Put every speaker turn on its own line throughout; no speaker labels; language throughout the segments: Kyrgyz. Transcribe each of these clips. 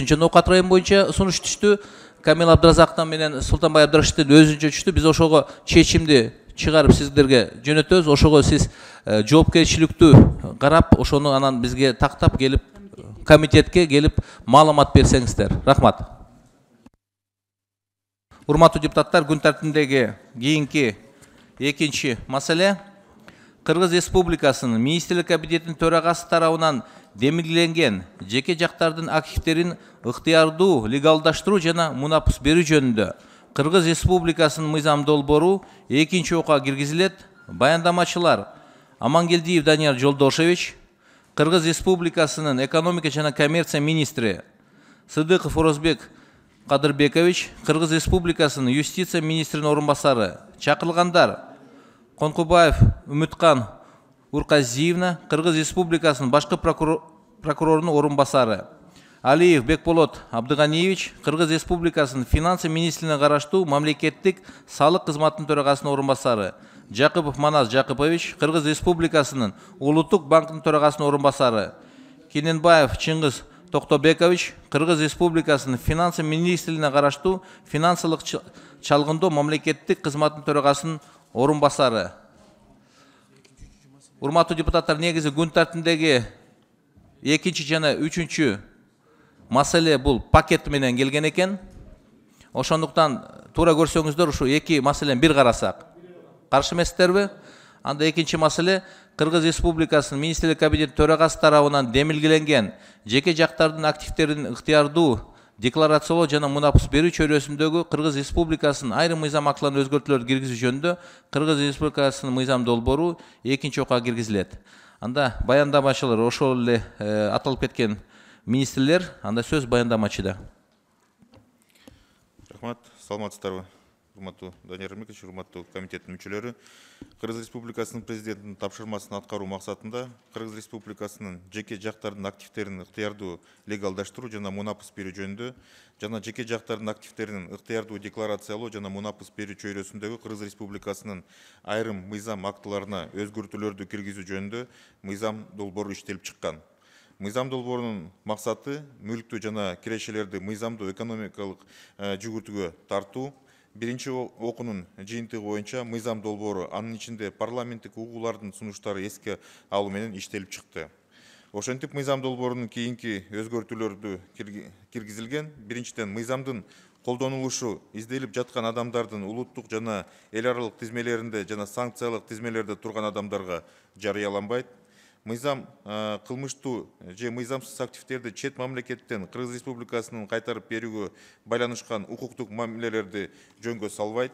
Өтүнчөн Окат район боюнча сунуш түштү. Камил Абдыразактан менен Султанбай Абдрашиттин өзүнчө түштү. Биз ошого чечимди чыгарып сиздерге жөнөтөбүз. Ошого сиз жоопкерчиликтүү карап, ошону анан бизге тактап келип, комитетке келип маалымат берсеңиздер. Рахмат. Урматтуу депутаттар, күн тартибиндеги кийинки экинчи маселе Кыргыз Республикасынын Министрлик кабинетинин төрагасы тарабынан демилгеленген жеке жактардын активтерин ыктыярдуу легалдаштыруу жана мунапыс берүү жөнүндө Кыргыз Республикасынын мыйзам долбоору экинчи окуга киргизилет. Баяндамачылар Амангелдиев Данияр Жолдошевич, Кыргыз Республикасынын экономика жана коммерция министри Сыдыков Орозбек Кадырбекович, Кыргыз Республикасынын юстиция министринин орун басары. Чакырылгандар: Конкубаев Үмүткан Урказиевна, Кыргыз Республикасынын башкы прокурорунун орун басары. Алиев Бекболот Абдыганиевич, Кыргыз Республикасынын финансы министрине караштуу мамлекеттик салык кызматынын төрагасынын орун басары. Жакыпов Манас Жакыпович, Кыргыз Республикасынын Улуттук банкынын төрагасынын орун басары. Кененбаев Чыңгыз Токтобекович, Кыргыз Республикасынын финансы министрине караштуу финансылык чалгындоо мамлекеттик кызматынын төрагасынын орун басары. Урматтуу депутаттар, негизи күн тартибиндеги экинчи жана үчүнчү маселе бул пакет менен келген экен. Ошондуктан туура көрсөңүздөр ушу эки маселени бир карасак. Каршы эмессиздерби? Анда экинчи маселе Кыргыз Республикасынын Министрлик кабинети төрагасы тарабынан демилгеленген жеке жактардын активтерин ыктыярдуу декларациялоо жана мунапыс берүү чөйрөсүндөгү Кыргыз Республикасынын айрым мыйзам актыларына өзгөртүүлөр киргизүү жөнүндө Кыргыз Республикасынын мыйзам долбоору экинчи окуга киргизилет. Анда баяндамачылар ошол эле аталып кеткен министрлер, анда сөз баяндамачыда.
Рахмат, саламатсыздарбы? Урматтуу Данияр Эрмекович, урматтуу комитеттин мүчөлөрү. Кыргыз Республикасынын президентинин тапшырмасын аткаруу максатында Кыргыз Республикасынын жеке жактардын активтерин ыктыярдуу легалдаштыруу жана мунапыс берүү жөнүндө жана жеке жактардын активтерин ыктыярдуу декларациялоо жана мунапыс берүү чөйрөсүндөгү Кыргыз Республикасынын айрым мыйзам актыларына өзгөртүүлөрдү киргизүү жөнүндө мыйзам долбоору иштелип чыккан. Мыйзам долбоорунун максаты мүлктүү жана кирешелерди мыйзамдуу экономикалык жүгүртүүгө тартуу. Биринчи окуунун жыйынтыгы боюнча мыйзам долбоору, анын ичинде парламенттик угуулардын сунуштары эске алуу менен иштелип чыкты. Ошентип мыйзам долбоорунун кийинки өзгөртүүлөрдү киргизилген. Биринчиден, мыйзамдын колдонулушу изделип жаткан адамдардын улуттук жана эл аралык тизмелеринде жана санкциялык тизмелерде турган адамдарга жарыяланбайт. Мыйзам кылмыштуу же мыйзамсыз активтерди чет мамлекеттен Кыргыз Республикасынын кайтарып берүүгө байланышкан укуктук мамилелерди жөнгө салбайт.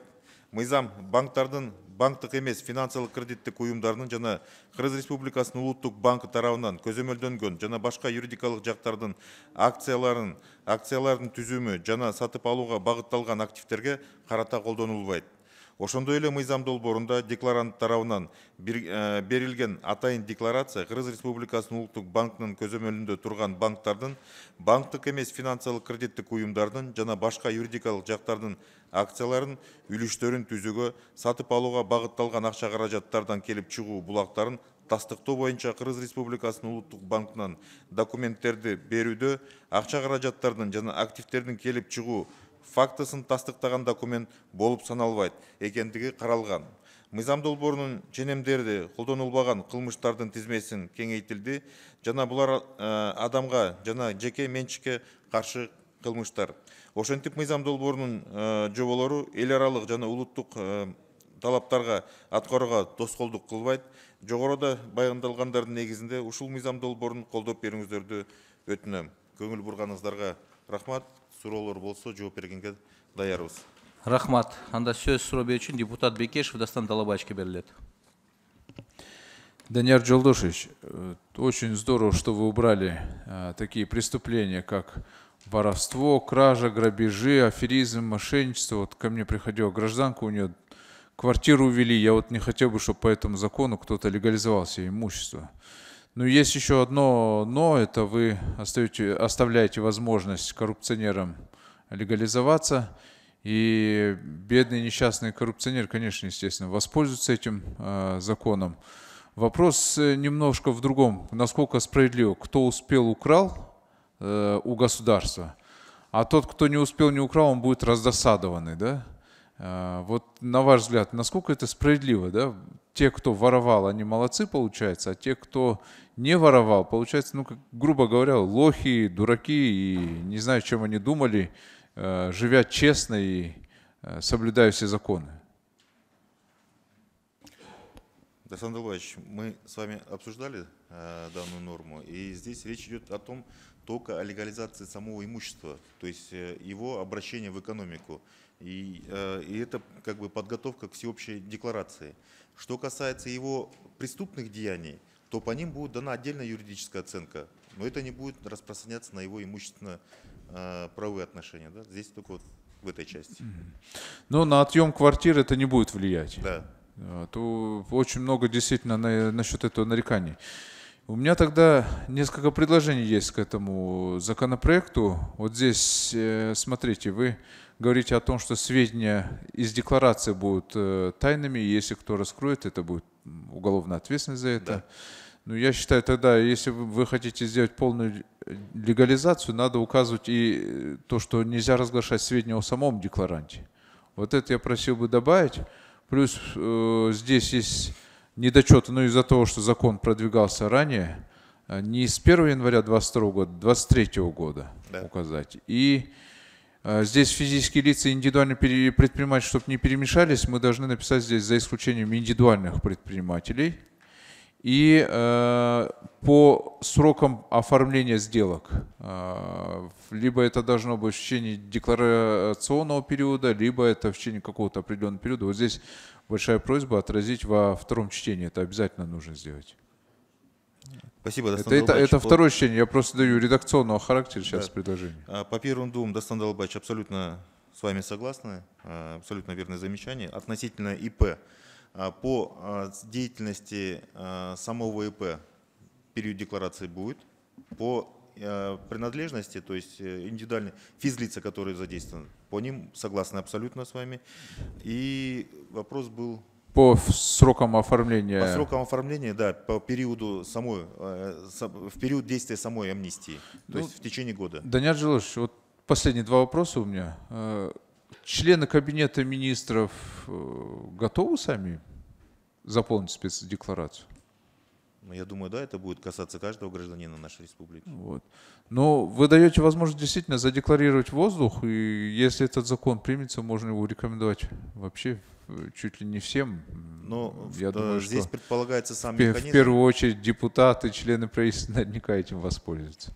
Мыйзам банктардын банктык эмес финансылык кредиттик уюмдарынын жана Кыргыз Республикасынын улуттук банкы тарабынан көзөмөлдөнгөн жана башка юридикалык жактардын акциялардын түзүмү жана сатып алууга багытталган активтерге карата колдонулбайт. Ошондой эле мыйзам долбоорунда декларант тарабынан берилген атайын декларация Кыргыз Республикасынын улуттук банкынын көзөмөлүндө турган банктардын, банктык эмес финансылык кредиттик уюмдардын жана башка юридикалык жактардын акцияларын, үлүштөрүн түзүүгө, сатып алууга багытталган акча каражаттардан келип чыгуу булактарын тастыктоо боюнча Кыргыз Республикасынын улуттук банкынан документтерди берүүдө акча каражаттардын жана активтердин келип чыгуу фактысын тастыктаган документ болуп саналбайт экендиги каралган. Мыйзам долбоорунун ченемдери колдонулбаган кылмыштардын тизмесин кеңейтилди жана булар адамга жана жеке менчикке каршы кылмыштар. Ошентип мыйзам долбоорунун жоболору эл аралык жана улуттук талаптарга аткарууга тоскоолдук кылбайт. Жогоруда баяндалгандардын негизинде ушул мыйзам долбоорун колдоп берүүңүздөрдү өтүнөм. Көңүл бурганыңыздарга рахмат. Суроолор болсо жооп бергенге даярбыз.
Рахмат. Анда сөз суроо берүүчү депутат Бекешев Дастан Талабаевичке берилет.
Данияр Жолдошевич, очень здорово, что вы убрали такие преступления, как воровство, кража, грабежи, аферизм, мошенничество. Вот ко мне приходила гражданка, у нее квартиру увели. Я вот не хотел бы, чтобы по этому закону кто-то легализовал себе имущество. Но есть еще одно «но», это вы оставляете возможность коррупционерам легализоваться, и бедный несчастный коррупционер, конечно, естественно, воспользуется этим законом. Вопрос немножко в другом. Насколько справедливо, кто успел, украл, у государства. А тот, кто не успел, не украл, он будет раздосадованный, да? Вот на ваш взгляд, насколько это справедливо, да? Те, кто воровал, они молодцы, получается, а те, кто не воровал, получается, ну, как, грубо говоря, лохи, дураки, и не знаю, чем они думали, живя честно и соблюдая все законы.
Александр Николаевич, мы с вами обсуждали данную норму, и здесь речь идет о том, только о легализации самого имущества, то есть его обращения в экономику. И это как бы подготовка к всеобщей декларации. Что касается его преступных деяний, то по ним будет дана отдельная юридическая оценка, но это не будет распространяться на его имущественно-правовые отношения. Да? Здесь только вот в этой части.
Но на отъем квартиры это не будет влиять.
Да.
То очень много действительно насчет этого нареканий. У меня тогда несколько предложений есть к этому законопроекту. Вот здесь, смотрите, вы говорите о том, что сведения из декларации будут тайными, и если кто раскроет, это будет уголовная ответственность за это.
Да.
Но я считаю, тогда, если вы хотите сделать полную легализацию, надо указывать и то, что нельзя разглашать сведения о самом декларанте. Вот это я просил бы добавить. Плюс здесь есть недочеты, но из-за того, что закон продвигался ранее, не с 1 января 2022 года, 2023 года
да.
указать. И здесь физические лица и индивидуальные предприниматели, чтобы не перемешались, мы должны написать здесь за исключением индивидуальных предпринимателей. И по срокам оформления сделок, либо это должно быть в течение декларационного периода, либо это в течение какого-то определенного периода. Вот здесь большая просьба отразить во втором чтении. Это обязательно нужно сделать.
Спасибо,
это второе чтение. Я просто даю редакционного характера сейчас предложение.
По первым двум, Дастан Далбаевич, абсолютно с вами согласны. Абсолютно верное замечание. Относительно ИП. По деятельности самого ИП период декларации будет. По принадлежности, то есть индивидуальные физлица, которые задействованы, по ним согласны абсолютно с вами. И вопрос был...
По срокам оформления...
По срокам оформления, да, по периоду самой, в период действия самой амнистии, то есть в течение года.
Даниил Жилович, вот последние два вопроса у меня. Члены Кабинета министров готовы сами заполнить спецдекларацию?
Я думаю, да, это будет касаться каждого гражданина нашей республики.
Вот. Но вы даете возможность действительно задекларировать воздух, и если этот закон примется, можно его рекомендовать вообще чуть ли не всем.
Но
я думаю,
здесь
что
предполагается сам механизм.
В первую очередь депутаты, члены правительства наверняка этим воспользуются.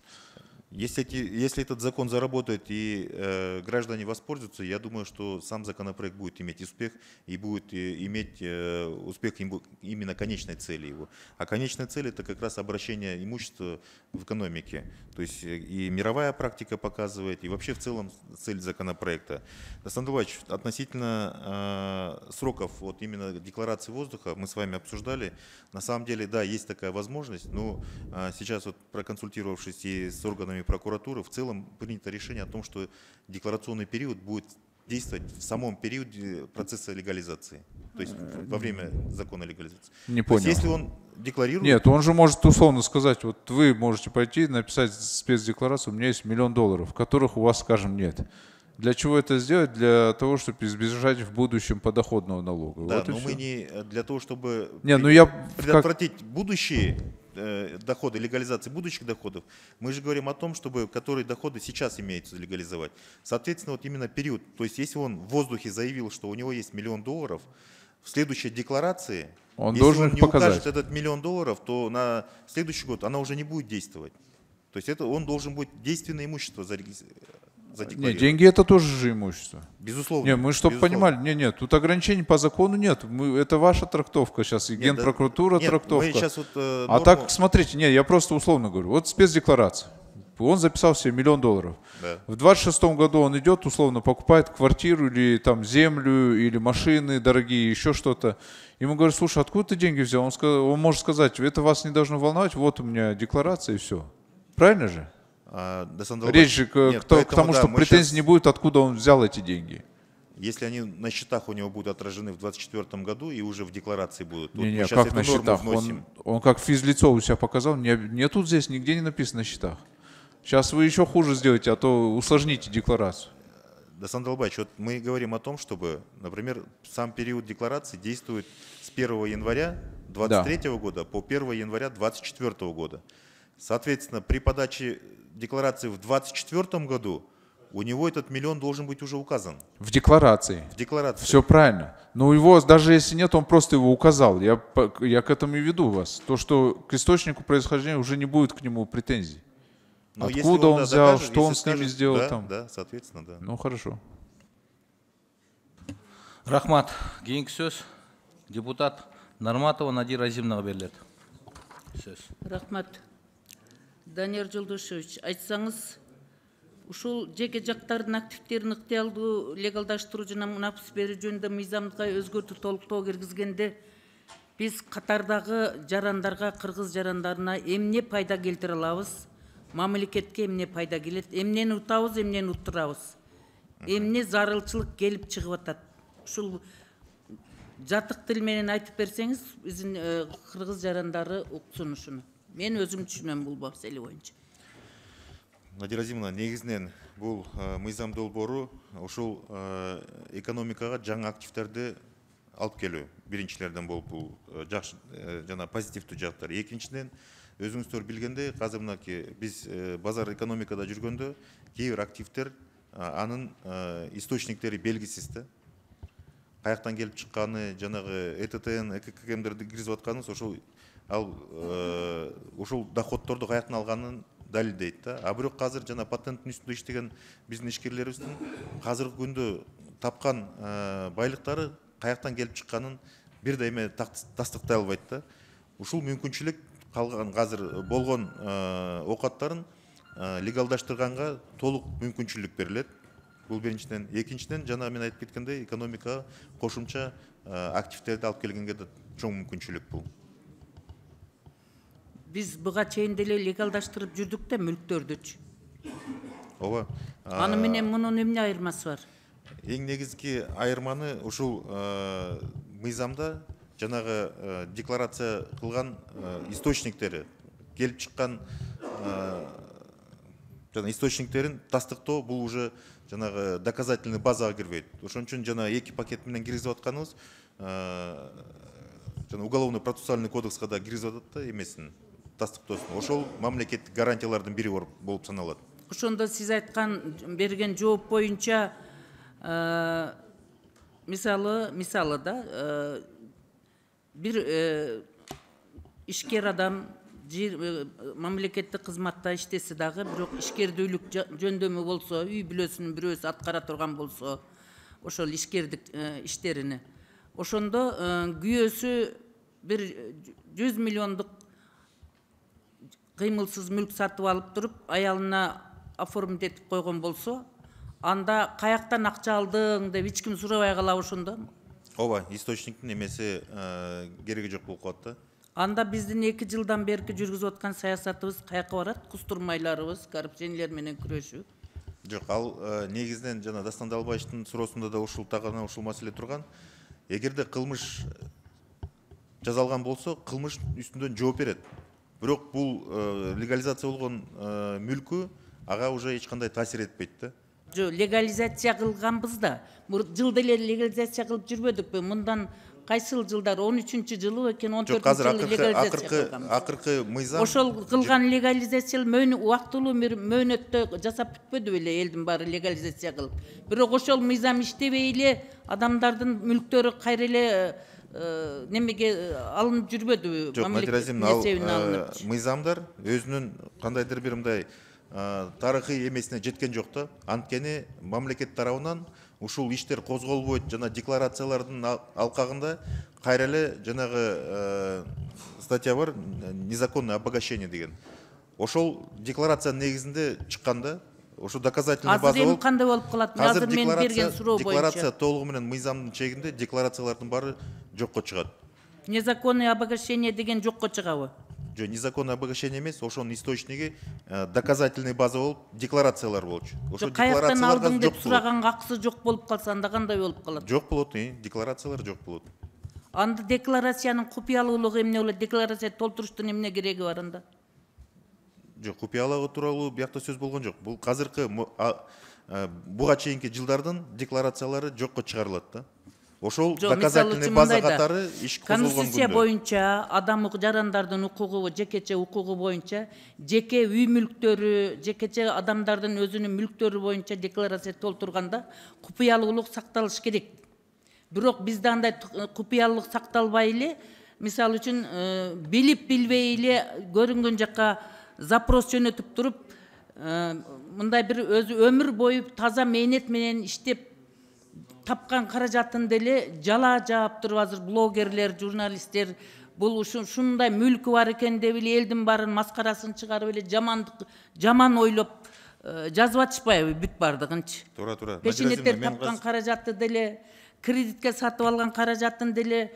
Если этот закон заработает и граждане воспользуются, я думаю, что сам законопроект будет иметь успех и будет иметь успех именно конечной цели его. А конечная цель — это как раз обращение имущества в экономике. То есть и мировая практика показывает, и вообще в целом цель законопроекта. Александр Николаевич, относительно сроков вот именно декларации воздуха мы с вами обсуждали. На самом деле, да, есть такая возможность, но сейчас вот проконсультировавшись и с органами прокуратуры, в целом принято решение о том, что декларационный период будет действовать в самом периоде процесса легализации, то есть во время закона легализации.
Не понял.
То есть, если он декларирует...
Нет, он же может условно сказать, вот вы можете пойти написать спецдекларацию, у меня есть $1 миллион, которых у вас, скажем, нет. Для чего это сделать? Для того, чтобы избежать в будущем подоходного налога.
Да,
вот
но мы не для того, чтобы предотвратить будущие доходы, легализации будущих доходов, мы же говорим о том, чтобы которые доходы сейчас имеются легализовать. Соответственно, вот именно период, то есть если он в воздухе заявил, что у него есть $1 миллион, в следующей декларации,
он
если
должен
он не
показать
укажет этот $1 миллион, то на следующий год она уже не будет действовать. То есть это он должен быть действенное имущество задекларировать.
Нет, деньги — это тоже же имущество.
Безусловно.
Нет, мы чтобы понимали, нет, тут ограничений по закону нет. Это ваша трактовка сейчас, и Генпрокуратура трактовка.
Мы сейчас вот,
а так, смотрите, нет, я просто условно говорю. Вот спецдекларация. Он записал себе $1 миллион.
Да.
В 26 году он идет, условно, покупает квартиру или там землю, или машины дорогие, еще что-то. Ему говорят: слушай, откуда ты деньги взял? Он может сказать: это вас не должно волновать, вот у меня декларация и все. Правильно же? Речь же к тому, что претензий не будет, откуда он взял эти деньги.
Если они на счетах у него будут отражены в 2024 году и уже в декларации будут.
Не, как на счетах? Он как физлицо у себя показал, не тут здесь нигде не написано на счетах. Сейчас вы еще хуже сделаете, а то усложните декларацию.
Дасан Далбаевич, вот мы говорим о том, чтобы, например, сам период декларации действует с 1 января 2023 года по 1 января 2024 года. Соответственно, при подаче декларации в 2024 году у него этот миллион должен быть уже указан.
В декларации.
В декларации.
Все правильно. Но у него, даже если нет, он просто его указал. Я к этому и веду вас. То, что к источнику происхождения уже не будет к нему претензий.
Но
откуда он взял,
докажет,
что он
если
с ними
скажет,
сделал
да,
там.
Да, соответственно, да.
Ну, хорошо.
Рахмат. Кийинки сөз депутат Нарматова Надира Азимовнаға берилет. Сөз.
Рахмат. Данияр Жолдошевич, айтсаңыз, ушул жеке жактардын активтерин ыктыялдуу легалдаштыруу жана мунапыс берүү жөнүндө мыйзамга өзгөртүү толуктоо киргизгенде биз катардагы жарандарга, кыргыз жарандарына эмне пайда келтире алабыз? Мамлекетке эмне пайда келет? Эмнени утабыз, эмнени уттурабыз? Эмне зарылчылык келип чыгып атат? Ушул жатык тил менен айтып берсеңиз, биздин кыргыз жарандары уксун ушуну. Мен өзүм түшүнөм бул маселе боюнча.
Надира Азимовна, негизинен бул мыйзам долбоору ушул экономикага жаңы активтерди алып келүү. Биринчилерден болуп бул жакшы жана позитивдүү жактар. Экинчиден, өзүңүздөр билгендей, азыр мынакей биз базар экономикада жүргөндө кээ бир активдер анын источниктери белгисиз да. Каяктан келип чыкканы, жанагы ЭТТН, ЭККМдерди киргизип атканыбыз ошол ушул доходдорду каяктан алганын далилдейт да. А бирок азыр жана патенттин үстүндө иштеген биздин ишкерлерибиздин азыркы күндө тапкан байлыктары каяктан келип чыкканын бир дайыма тастыктай албайт да. Ушул мүмкүнчүлүк калган азыр болгон оокаттарын легалдаштырганга толук мүмкүнчүлүк берилет. Бул биринчиден. Экинчиден, жана мен айтып кеткендей, экономикага кошумча активтерди алып келгенге да чоң мүмкүнчүлүк бул.
Биз буга чейин деле легалдаштырып жүрдүк да мүлктөрдүчү.
Ооба.
Аны менен мунун эмне айырмасы бар?
Эң негизги айырманы ушул мыйзамда жанагы декларация кылган источниктери, келип чыккан жана источниктерин тастыктоо бул уже жанагы доказательный базага кирбейт. Ошон үчүн жана эки пакет менен киргизип атканыбыз жана уголовно процессуальный кодекска да киргизип атат да эмесин тастыктоосун. Ошол мамлекеттик гарантиялардын бири болуп саналат.
Ошондо сиз айткан берген жооп боюнча мисалы да бир ишкер адам мамлекеттик кызматта иштесе дагы, бирок ишкердүүлүк жөндөмү болсо, үй бүлөсүнүн бирөөсү аткара турган болсо, ошол ишкердик иштерини, ошондо күйөөсү бир 100 миллиондук кыймылсыз мүлк сатып алып туруп, аялына оформить этип койгон болсо, анда каяктан акча алдың деп эч ким сурабай калабы ошондо?
Ооба, источниктин эмеси кереги жок болуп калат да.
Анда биздин 2 жылдан берки жүргүзүп аткан саясатыбыз каяка барат? Кустурмайларыбыз, коррупционерлер менен күрөшүү?
Жок, ал негизинен жана Дастан Далбаевичтин суроосунда да ушул тагына ушул маселе турган. Эгерде кылмыш жазалган болсо, кылмыш үстүндөн жооп берет. Бирок бул легализация болгон мүлкү ага уже эч кандай таасир этпейт да.
Жок, легализация кылганбыз да. Жылда эле легализация кылып жүрбөдүкпү? Мындан кайсыл жылдар, 13-жылы экен, 14-жылы легализация кылганбыз.
Акыркы мыйзам
Ошол кылган легализация убактылуу бир мөөнөттө жасап бүтпөдү беле, элдин баары легализация кылып. Бирок ошол мыйзам иштебей эле адамдардын мүлктөрү кайра эле немеге алынып жүрбөдү?
Жок, Надира Азимовна, ал мыйзамдар өзүнүн кандайдыр бир мындай тарыхый эмесине жеткен жок да. Анткени мамлекет тарабынан ушул иштер козголбойт, жана декларациялардын алкагында кайра эле жанагы статья бар, незаконное обогащение деген. Ошол декларациянын негизинде чыкканда, ошо доказательный база болуп.
Азыр эми кандай болуп калат? Азыр мен берген суроо боюнча.
Декларация толугу менен мыйзамдын чегинде декларациялардын баары жокко чыгат.
Незаконное обогащение деген жокко чыгабы?
Жок, незаконное обогащение эмес, ошонун источниги доказательный база болуп, декларациялар болчу.
Ошо каяктан алдың деп сураганга акысы жок болуп калса, анда кандай болуп калат?
Жок болот, декларациялар жок болот.
Анда декларациянын купуялуулугу эмне болот? Декларация толтуруштун эмне кереги бар анда?
Жок, купуялоо тууралуу биякта сөз болгон жок. Бул азыркы буга чейинки жылдардын декларациялары жокко чыгарылат да. Ошол доказательный база катары иш козголгон күндө.
Конституция боюнча адам жарандардын укугу, жекече укугу боюнча, жеке үй мүлктөрү, жекече адамдардын өзүнүн мүлктөрү боюнча декларация толтурганда купуялуулук сакталыш керек. Бирок бизде андай купуялуулук сакталбай эле, мисалы үчүн билип билбей эле көрүнгөн жакка запрос жөнөтүп туруп, мындай бир өзү өмүр бою таза мээнет менен иштеп тапкан каражатын деле жала жаап туруп азыр блогерлер, журналисттер бул ушундай мүлкү бар экен деп эле элдин баарын маскарасын чыгарып эле жаман ойлоп жазып атышпайбы бүт бардыгынчы.
Туура.
Пешенеттер тапкан каражатты деле, кредитке сатып алган каражатын деле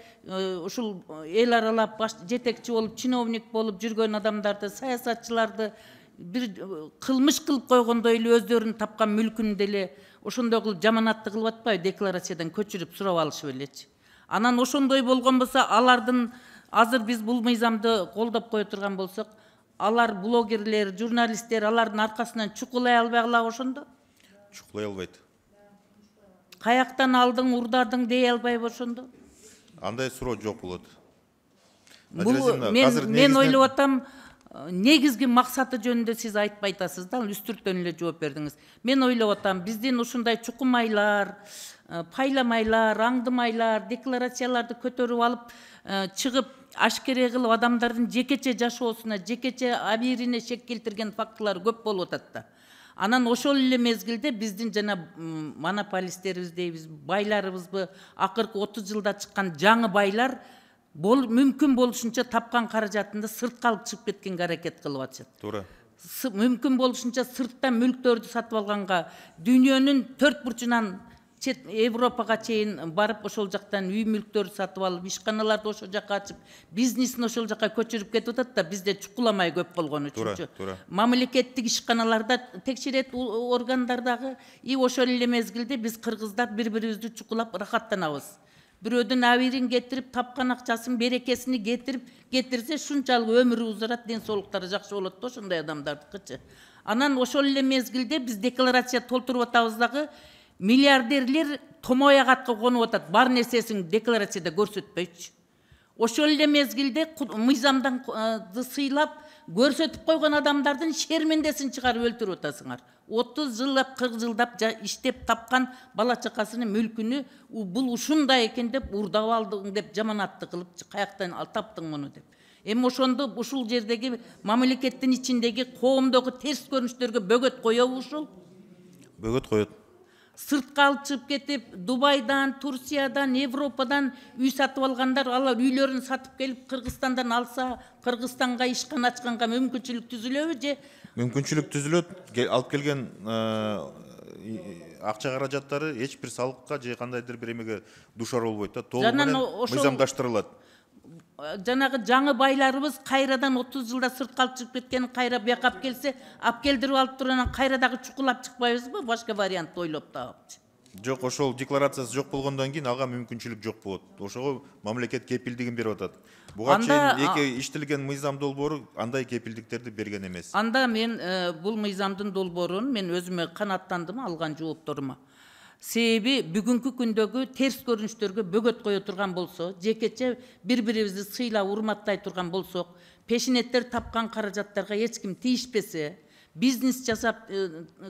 ушул эл аралап жетекчи болуп, чиновник болуп жүргөн адамдарды, саясатчыларды бир кылмыш кылып койгондой эле өздөрүнүн тапкан мүлкүн деле ошондой кылып жаманатты кылып атпайбы, декларациядан көчүрүп сурап алышып элечи. Анан ошондой болгон болсо, алардын азыр биз бул мыйзамды колдоп кое турган болсок, алар блогерлер, журналисттер алардын аркасынан чукулай албай калабы ошондо?
Чукулай албайт.
Каяктан алдың, урдадың дей албайбы ошондо?
Андай суроо жок болот.
Мен ойлоп атам, негизги максаты жөнүндө сиз айтпай атасыз да, үстүртөн эле жооп бердиңиз. Мен ойлоп атам, биздин ушундай чукумайлар, пайламайлар, аңдымайлар, декларацияларды көтөрүп алып, чыгып, ашкере кылып адамдардын жекече жашоосуна, жекече абийирине шек келтирген фактылар көп болуп атат да. Анан ошол эле мезгилде биздин жана монополисттерибиз дейбиз, байларыбызбы, акыркы 30 жылда чыккан жаңы байлар мүмкүн болушунча тапкан каражатында сыртка алып чыгып кеткенге аракет кылып атышат.
Туура.
Мүмкүн болушунча сырттан мүлктөрдү сатып алганга, дүйнөнүн 4 бурчунан Европага чейин барып, ошол жактан үй мүлктөрдү сатып алып, ишканаларды ошол жакка ачып, бизнесин ошол жакка көчүрүп кетип атат да, бизде чукуламай көп болгон үчүнчү. Мамлекеттик ишканаларда текшерет органдардагы ошол эле мезгилде биз кыргыздар бири-бирибизди чукулап рахаттанабыз. Бирөөдүн абийирин кетирип, тапкан акчасын, берекесини кетирсе, шунчалык өмүрү узарат, ден соолуктары жакшы болот да ошондой адамдардыкычы. Анан ошол эле мезгилде биз декларация толтуруп атабыз дагы, миллиардерлер томой агатка конуп атат, бар нерсесин декларацияда көрсөтпөйчү. Ошол эле мезгилде мыйзамдан сыйлап көрсөтүп койгон адамдардын шермендесин чыгарып өлтүрүп атасыңар. 30 жылдап, 40 жылдап иштеп тапкан бала чакасынын мүлкүнү бул ушундай экен деп урдап алдың деп жаманатты кылып, каяктан таптың муну деп. Эми ошондо ушул жердеги мамлекеттин ичиндеги коомдогу терс көрүнүштөргө бөгөт коёбу ушул?
Бөгөт коет.
Сыртка алып чыгып кетип, Дубайдан, Турциядан, Европадан үй сатып алгандар, алар үйлөрүн сатып келип Кыргызстандан алса, Кыргызстанга ишкана ачканга мүмкүнчүлүк түзүлөбү же?
Мүмкүнчүлүк түзүлөт. Алып келген акча каражаттары эч бир салыкка же кандайдыр бир эмеге душар болбойт да, толук менен мыйзамдаштырылат.
Жанагы жаңы байларыбыз кайрадан 30 жылда сыртка алып чыгып кеткенин кайра бияка алып келсе, алып келдирип алып туруп анан кайра дагы чукулап чыкпайбызбы? Башка вариант ойлоп таапчы.
Жок, ошол декларациясы жок болгондон кийин ага мүмкүнчүлүк жок болот. Ошого мамлекет кепилдигин берип атат. Буга чейин иштелген мыйзам долбоору андай кепилдиктерди берген эмес.
Анда мен бул мыйзамдын долбоорун мен өзүмө канааттандым алган жоопторума. Себеби бүгүнкү күндөгү терс көрүнүштөргө бөгөт кое турган болсо, жекече бири-бирибизди сыйлап, урматтай турган болсок, пешенеттер тапкан каражаттарга эч ким тийишпесе, бизнес жасап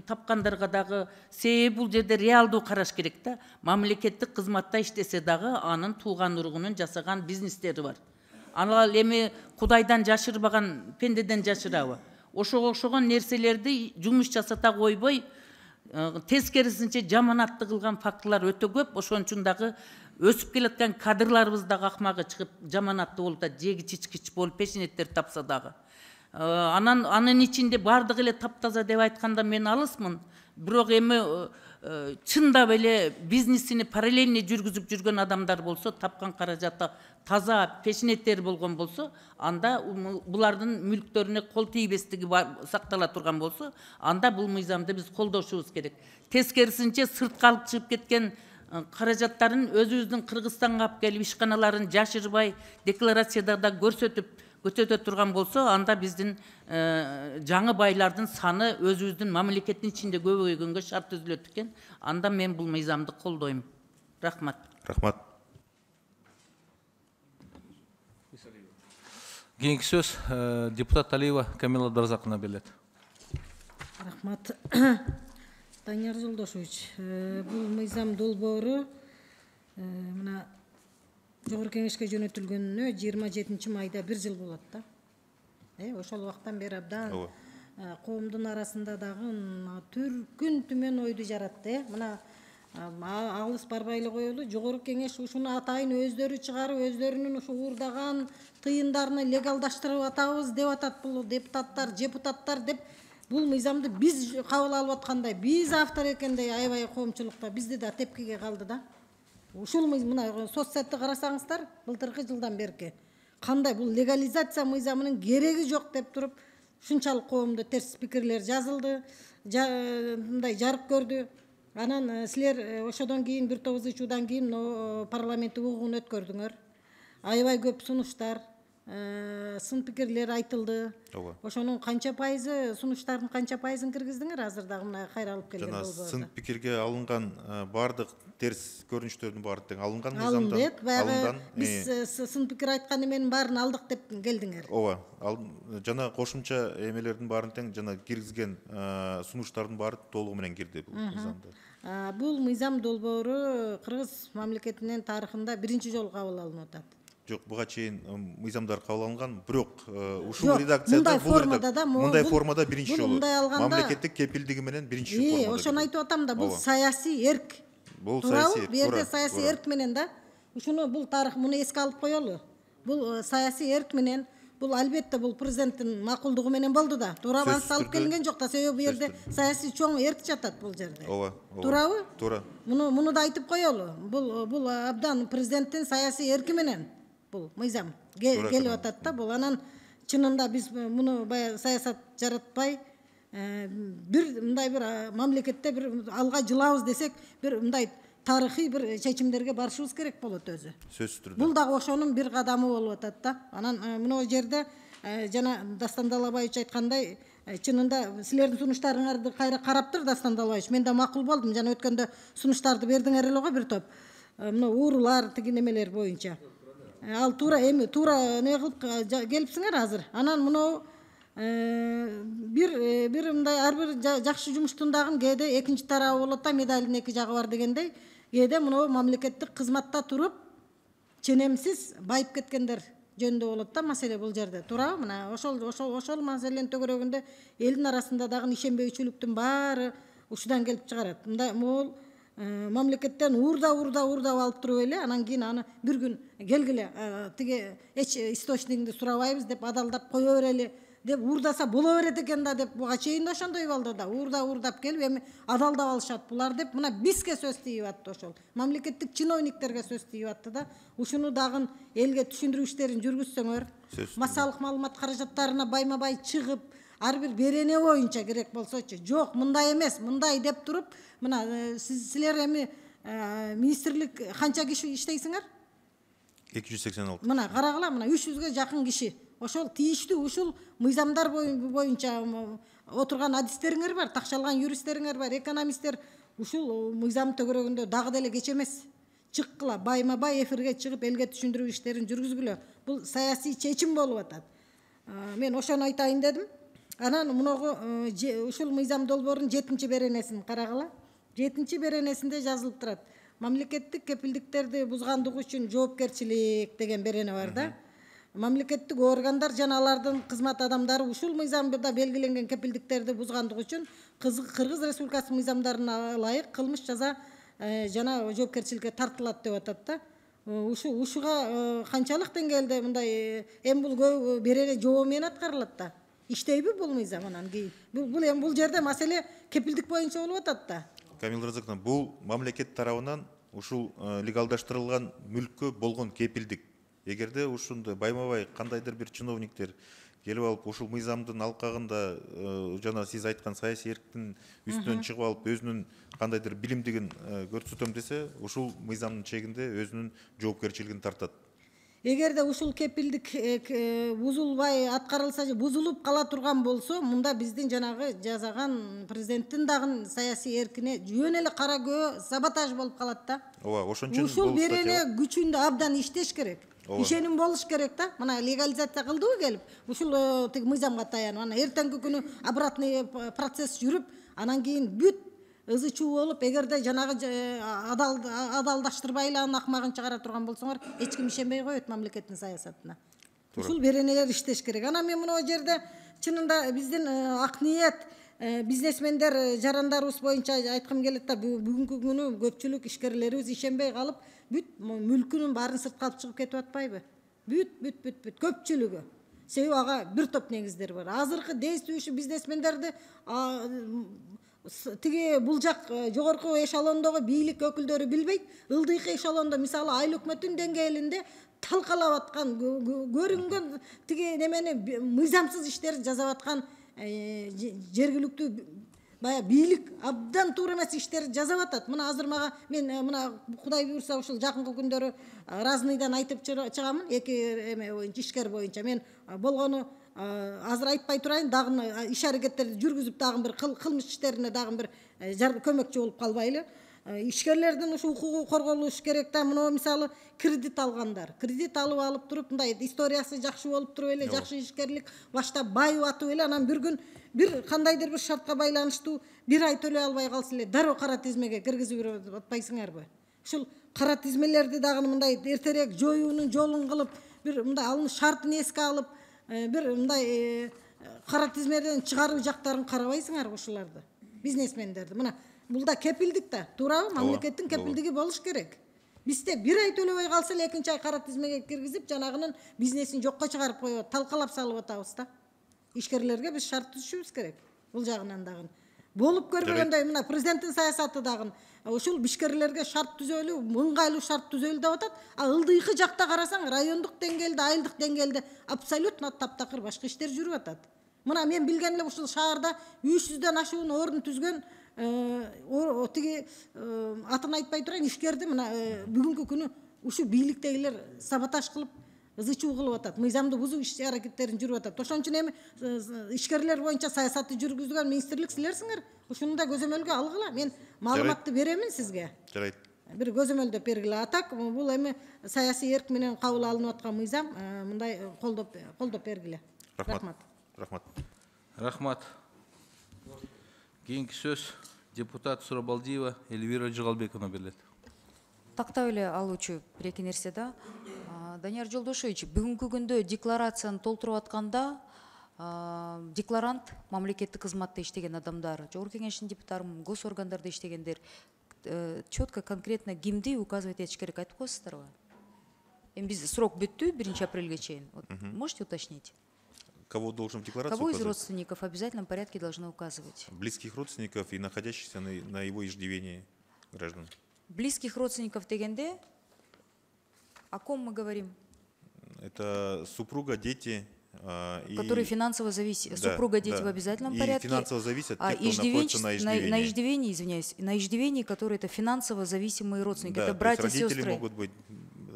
тапкандарга дагы, себеби бул жерде реалдуу караш керек да. Мамлекеттик кызматта иштесе дагы анын тууган уругунун жасаган бизнестери бар. Анан эми Кудайдан жашырбаган пендеден жашырабы? Ошого окшогон нерселерди жумуш жасата койбой, тескерисинче жаманатты кылган фактылар өтө көп. Ошон үчүн дагы өсүп келаткан кадрларыбыз дагы акмагы чыгып жаманатты болуп атат, жеги чичкич болуп пешенеттер тапса дагы. Анын ичинде бардыгы эле таптаза деп айтканда мен алысмын. Бирок эми чындап эле бизнесини параллельный жүргүзүп жүргөн адамдар болсо, тапкан каражаты таза пешенеттер болгон болсо, анда булардын мүлктөрүнө кол тийбестиги сактала турган болсо, анда бул мыйзамды биз колдошубуз керек. Тескерисинче сыртка алып чыгып кеткен каражаттарын өзүбүздүн Кыргызстанга алып келип ишканаларын жашырбай, декларацияда да көрсөтүп, көтөтө турган болсо, анда биздин жаңы байлардын саны өзүбүздүн мамлекеттин ичинде көбөйгөнгө шарт түзүлөт экен. Анда мен бул мыйзамды колдойм. Рахмат.
Рахмат.
Кийинки сөз депутат Алиева Камила Дарзаковна берилет.
Рахмат. Данияр Жолдошевич, бул мыйзам долбоору мына Жогорку Кеңешке жөнөтүлгөнүнө 27 майда 1 жыл болот да. Ошол убактан бери абдан коомдун арасында дагы түркүн түмөн ойду жаратты. Мына алыс барбайлы коелу, Жогорку Кеңеш ушуну атайын өздөрү чыгарып, өздөрүнүн ушу уурдаган тыйындарын легалдаштырып атабыз деп атат бул депутаттар деп. Бул мыйзамды биз кабыл алып аткандай, биз автор экендей аябай коомчулукта бизди да тепкиге калды да. Ушул мына соцсайтты карасаңыздар, былтыркы жылдан берки кандай бул легализация мыйзамынын кереги жок деп туруп, ушунчалык коомдо терс пикирлер жазылды, мындай жарык көрдү. Анан силер ошодон кийин бир топ ызычуудан кийин парламенттик угуун өткөрдүңөр. Аябай көп сунуштар, сын пикирлер айтылды. Ошонун канча пайызы, сунуштардын канча пайызын киргиздиңер азыр дагы мына кайра алып келген болборду?
Сын пикирге алынган бардык терс көрүнүштөрдүн баары тең алынган
мыйзамдан.
Алынды.
Баягы биз сын пикир айткан эменин баарын алдык деп келдиңер.
Ооба, жана кошумча эмелердин баарын тең жана киргизген сунуштардын баары толугу менен кирди бул мыйзамда.
Бул мыйзам долбоору Кыргыз мамлекетинин тарыхында биринчи жолу кабыл алынып атат.
Жок, буга чейин мыйзамдар кабыл алынган, бирок ушул редакцияда мындай формада биринчи жолу мамлекеттик кепилдиги менен биринчи формада.
Ошону айтып атам да, бул саясий эрк.
Бул саясий,
бу жерде саясий эрк менен да. Ушуну бул тарых, муну эске алып коелу. Бул саясий эрк менен, бул албетте бул президенттин макулдугу менен болду да. Туурабы, ансы алып келинген жок да, себеби бу жерде саясий чоң эрк жатат бул жерде.
Ооба.
Туурабы?
Туура.
Муну да айтып коелу. Бул абдан президенттин саясий эрки менен бул мыйзам келип атат да. Бул анан чынында биз муну бая саясат жаратпай, бир мындай бир мамлекетте бир алга жылабыз десек, бир мындай тарыхый бир чечимдерге барышыбыз керек болот өзү.
Сөзсүз түрдө.
Бул дагы ошонун бир кадамы болуп атат да. Анан мына жерде жана Дастан Далабаевич айткандай, чынында силердин сунуштарыңарды кайра караптыр Дастан Далабаевич. Мен да макул болдум. Жана өткөндө сунуштарды бердиңер эле го бир топ. Мына уурулар, тиги немелер боюнча. Ал туура эми не кылып келипсиңер азыр. Анан мына бир мындай ар бир жакшы жумуштун дагы кээде экинчи тарабы болот да, медалдын эки жагы бар дегендей. Кээде мына мамлекеттик кызматта туруп ченемсиз байып кеткендер жөнүндө болот да маселе бул жерде. Туурабы? Мына ошол маселенин төгөрөгүндө элдин арасында дагы ишенбейчүлүктүн баары ушудан келип чыгарат. Мындай могул мамлекеттен уурдап алып туруп эле, анан кийин аны бир күн келгиле тиги эч источнигинди сурабайбыз деп адалдап кое берели деп уурдаса боло берет экен да деп буга чейин да ошондой болду да. Уурдап келип эми адалдап алышат булар деп мына бизге сөз тийип атты ошол. Мамлекеттик чиновниктерге сөз тийип атты да. Ушуну дагы элге түшүндүрүү иштерин жүргүзсөңөр, массалык маалымат каражаттарына байма-бай чыгып, ар бир берене боюнча керек болсочу. Жок, мындай эмес, мындай деп туруп, мына силер эми министрлик канча киши иштейсиңер?
286.
Мына карагыла, мына 300ге жакын киши. Ошол тийиштүү ушул мыйзамдар боюнча отурган адистериңер бар, такшалган юристтериңер бар, экономисттер. Ушул мыйзам төгөрөгүндө дагы деле кеч эмес. Чыккыла, байма-бай эфирге чыгып элге түшүндүрүү иштерин жүргүзгүлө. Бул саясий чечим болуп атат. Мен ошону айтайын дедим. Анан муногу ушул мыйзам долбоорунун 7-чи беренесин карагыла. 7-чи беренесинде жазылып турат. Мамлекеттик кепилдиктерди бузгандыгы үчүн жоопкерчилик деген берене бар да. Мамлекеттик органдар жана алардын кызмат адамдары ушул мыйзамда белгиленген кепилдиктерди бузгандыгы үчүн Кыргыз Республикасы мыйзамдарына ылайык кылмыш жаза жана жоопкерчиликке тартылат деп атат да. Ушуга канчалык деңгээлде мындай эми бул берене жообу менен аткарылат да. Иштейби бул мыйзам анан кийин? Бул жерде маселе кепилдик боюнча болуп атат да.
Камила Разаковна, бул мамлекет тарабынан ушул легалдаштырылган мүлккө болгон кепилдик. Эгерде ушундай байма-бай кандайдыр бир чиновниктер келип алып ушул мыйзамдын алкагында жана сиз айткан саясий эрктин үстүнөн чыгып алып өзүнүн кандайдыр билимдигин көрсөтөм десе, ушул мыйзамдын чегинде өзүнүн жоопкерчилигин тартат.
эгерде ушул кепилдик бузулбай аткарылса же бузулуп кала турган болсо, мында биздин жанагы жасаган президенттин дагы саясий эркине жөн эле кара көө саботаж болуп калат да.
Ооба, ошон үчүн
Ушул берене күчүндө абдан иштеш керек. Ишеним болуш керек да. Мына легализация кылдыбы келип, ушул тиги мыйзамга таянып, анан эртеңки күнү обратный процесс жүрүп, анан кийин бүт ызы чуу болуп, эгерде жанагы адалдаштырбай эле анын акмагын чыгара турган болсоңор, эч ким ишенбей коет мамлекеттин саясатына. Ушул беренелер иштеш керек. Анан мен мына жерде чынында биздин ак ниет бизнесмендер жарандарыбыз боюнча айткым келет да, бүгүнкү күнү көпчүлүк ишкерлерибиз ишенбей калып, бүт мүлкүнүн баарын сыртка алып чыгып кетип атпайбы? Бүт көпчүлүгү. Себеби ага бир топ негиздер бар. Азыркы действующий бизнесмендерди тиги бул жак жогорку эшелондогу бийлик өкүлдөрү билбейт. Ылдыйкы эшелондо, мисалы, айыл өкмөттүн деңгээлинде талкалап аткан, көрүнгөн тиги немени мыйзамсыз иштерди жасап аткан жергиликтүү бая бийлик абдан туура эмес иштерди жасап атат. Мына азыр мага мен мына Кудай буйрса ушул жакынкы күндөрү Разнойдан айтып чыгамын, эки эме боюнча, ишкер боюнча. Мен болгону азыр айтпай турайын, дагы иш аракеттерди жүргүзүп, дагы бир кылмыш иштерине дагы бир көмөкчү болуп калбайлы. Ишкерлердин ушу укугу корголуш керек да. Мына мисалы кредит алгандар, кредит алып туруп, мындай историясы жакшы болуп туруп эле, жакшы ишкерлик баштап байып атып эле, анан бир күн бир кандайдыр бир шартка байланыштуу бир ай төлөй албай калса эле дароо кара тизмеге киргизип атпайсыңарбы? Ушул кара тизмелерди дагы мындай эртерээк жоюунун жолун кылып, бир мындай алын шартын эске алып, бир мындай кара тизмеден чыгаруу жактарын карабайсыңарбы ушуларды, бизнесмендерди? Мына бул да кепилдик да, туурабы? Мамлекеттин кепилдиги болуш керек. Бизде бир ай төлөбөй калса эле экинчи ай кара тизмеге киргизип, жанагынын бизнесин жокко чыгарып коюп, талкалап салып атабыз да. Ишкерлерге биз шарт түзүшүбүз керек. Бул жагынан дагы болуп көрбөгөндөй, мына президенттин саясаты дагы ушул ишкерлерге шарт түзөлүү, ыңгайлуу шарт түзөлүү деп атат. А ылдыйкы жакта карасаң, райондук деңгээлде, айылдык деңгээлде абсолютно таптакыр башка иштер жүрүп атат. Мына мен билген эле ушул шаарда 300дөн ашуун орун түзгөн тиги атын айтпай турайын, ишкерди мына бүгүнкү күнү ушу бийликтегилер саботаж кылып, ызы чуу кылып атат, мыйзамды бузуу иш аракеттерин жүрүп атат. Ошон үчүн эми ишкерлер боюнча саясатты жүргүзгөн министрлик силерсиңер. Ушуну да көзөмөлгө алгыла. Мен маалыматты беремин сизге.
Жарайт.
Бир көзөмөлдөп бергиле. Атак бул эми саясий эрк менен кабыл алынып аткан мыйзам, мындай колдоп бергиле. Рахмат.
Рахмат. Кийинки сөз депутат Сурабалдиева Эльвира Жыгалбековна берилет.
Тактап эле алуучу бир эки нерсе да. Данияр Жолдошевич, бүгүнкү күндө декларацияны толтуруп атканда декларант мамлекеттик кызматта иштеген адамдар, жогорку кеңештин депутаттары, госоргандарда иштегендер четко, конкретно кимди указывать этиш керек айтып коесуздарбы? Эми биз срок бүттү 1 апрелге чейин. Можете уточнить?
Кого должен в декларации
Кого из
указывать?
родственников в обязательном порядке должны указывать?
Близких родственников и находящихся на его иждивении граждан.
Близких родственников дегенде, о ком мы говорим?
Это супруга, дети.
Которые финансово зависят. Супруга, дети в обязательном порядке.
И финансово зависят те, кто находится на иждивении.
На иждивении, извиняюсь, на иждивении, которые это финансово зависимые родственники. Да, это братья, сестры.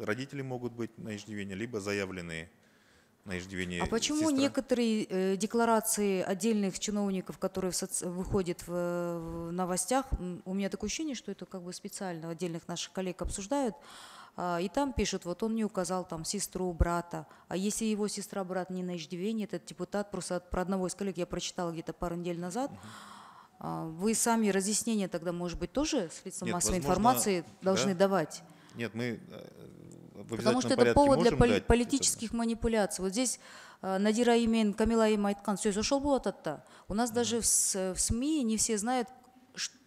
Родители могут быть на иждивении, либо заявленные на иждивение.
А почему
сестра?
Некоторые декларации отдельных чиновников, которые выходят в новостях, у меня такое ощущение, что это как бы специально отдельных наших коллег обсуждают, и там пишут, вот он не указал там сестру, брата, а если его сестра, брат не на иждивении, этот депутат, просто про одного из коллег я прочитала где-то пару недель назад, вы сами разъяснения тогда, может быть, тоже средства массовой информации должны давать?
Нет, мы
потому что это повод для политических манипуляций. Вот здесь Надира Имен, Камила Им айткан сөз ошол болот атта. У нас даже в СМИ не все знают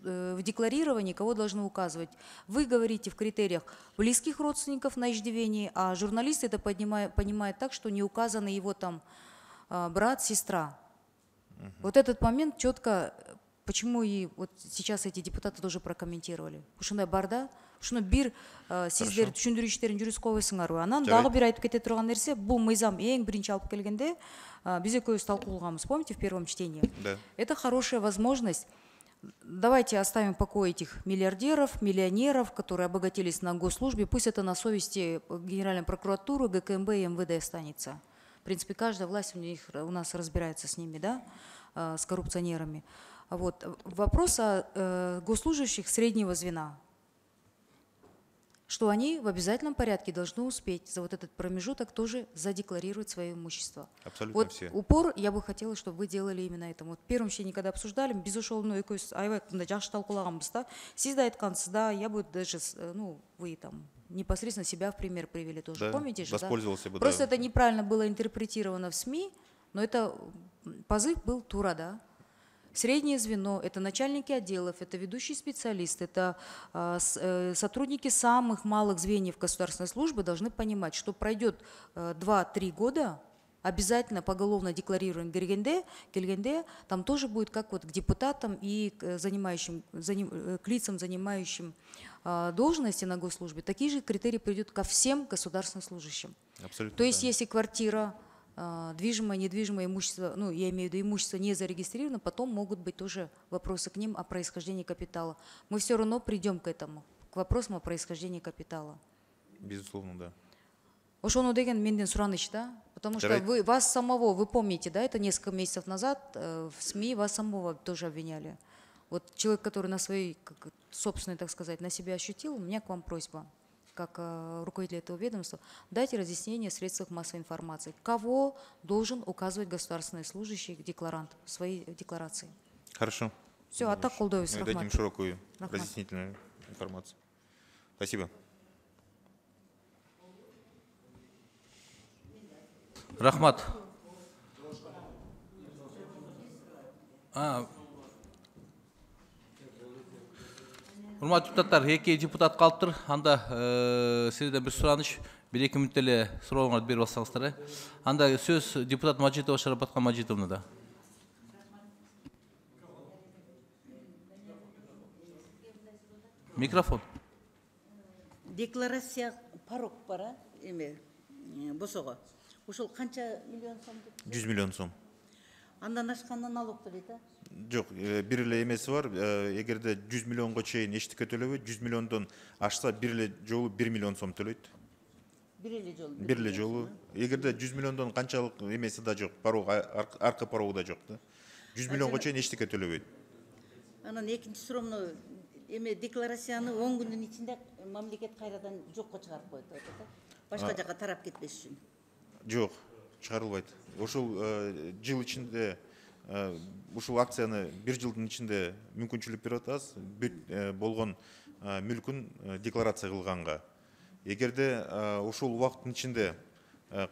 в декларировании, кого должны указывать. Вы говорите в критериях близких родственников на иждивении, а журналисты это понимают так, что не указаны его там брат, сестра. Вот этот момент четко, почему и вот сейчас эти депутаты тоже прокомментировали. Ушундай барда, ушуну бир сиздер түшүндүрүү иштерин жүргүзүп койбойсуңарбы? Анан дагы бир айтып кете турган нерсе, бул мыйзам эң биринчи алып келгенде биз экөөбүз талкуулаганбыз, помните, в первом чтении?
Да.
Это хорошая возможность давайте оставим в покое этих миллиардеров, миллионеров, которые обогатились на госслужбе. Пусть это на совести Генеральной прокуратуры, ГКМБ и МВД останется. В принципе, каждая власть у нас разбирается с ними, да, с коррупционерами. Вот. Вопрос о госслужащих среднего звена. Что они в обязательном порядке должны успеть за вот этот промежуток тоже задекларировать свое имущество.
Абсолютно
вот
все.
Упор я бы хотела, чтобы вы делали именно это. Вот в первом чтении, когда обсуждали, без ушел, аябай жакшы талкуулаганбыз да. Сиз да айткансыз, да, я бы даже, вы там непосредственно себя в пример привели тоже.
Да,
помните же,
воспользовался
да?
бы.
Просто
да.
это неправильно было интерпретировано в СМИ, но это позыв был тура, да. Среднее звено – это начальники отделов, это ведущие специалисты, это сотрудники самых малых звеньев государственной службы должны понимать, что пройдет 2-3 года, обязательно поголовно декларируем келгенде, там тоже будет как вот к депутатам и к лицам, занимающим должности на госслужбе, такие же критерии придут ко всем государственным служащим.
Абсолютно.
То есть
да.
если квартира, движимое, недвижимое имущество, я имею в виду имущество не зарегистрировано, потом могут быть тоже вопросы к ним о происхождении капитала. Мы все равно придем к этому, к вопросам о происхождении капитала.
Безусловно, да.
Ошону деген менден сураныч, да? Потому что вас самого, вы помните, да, это несколько месяцев назад в СМИ вас самого тоже обвиняли. Вот человек, который на своей, собственной, так сказать, на себя ощутил, у меня к вам просьба, как руководитель этого ведомства, дайте разъяснение в средствах массовой информации. Кого должен указывать государственный служащий, декларант в своей декларации?
Хорошо.
Все, а так колдовый.
Мы дадим широкую разъяснительную информацию. Спасибо.
Рахмат. Урматтуу депутаттар, 2 депутат калыптыр. Анда сизден бир сураныч, 1-2 мүнөттө эле сурооңорду берип алсаңыздар. Анда сөз депутат Мажитова Шарапатка Мажитовнада. Микрофон.
Декларация порог бар, босого. Ушул канча миллион сом?
100 миллион сом.
Андан ашканда налог төлөйт, а?
Жок, бир эле эмеси бар. Эгерде 100 миллионго чейин эчтеке төлөбөйт, 100 миллиондон ашса бир эле жолу 1 миллион сом төлөйт. Бир эле жолу. Эгерде 100 миллиондон канчалык эмеси да жок, порог, аркы порогу да жок да. 100 миллионго чейин эчтеке төлөбөйт.
Анан экинчи суроомду декларацияны 10 күндүн ичинде мамлекет кайрадан жокко чыгарып коет, да? Башка жака тарап кетпеш үчүн.
Жок, чыгарылбайт. Ошол жыл ичинде ушул акцияны 1 жылдын ичинде мүмкүнчүлүк берип атабыз, болгон мүлкүн декларация кылганга. Эгерде ушул убакыттын ичинде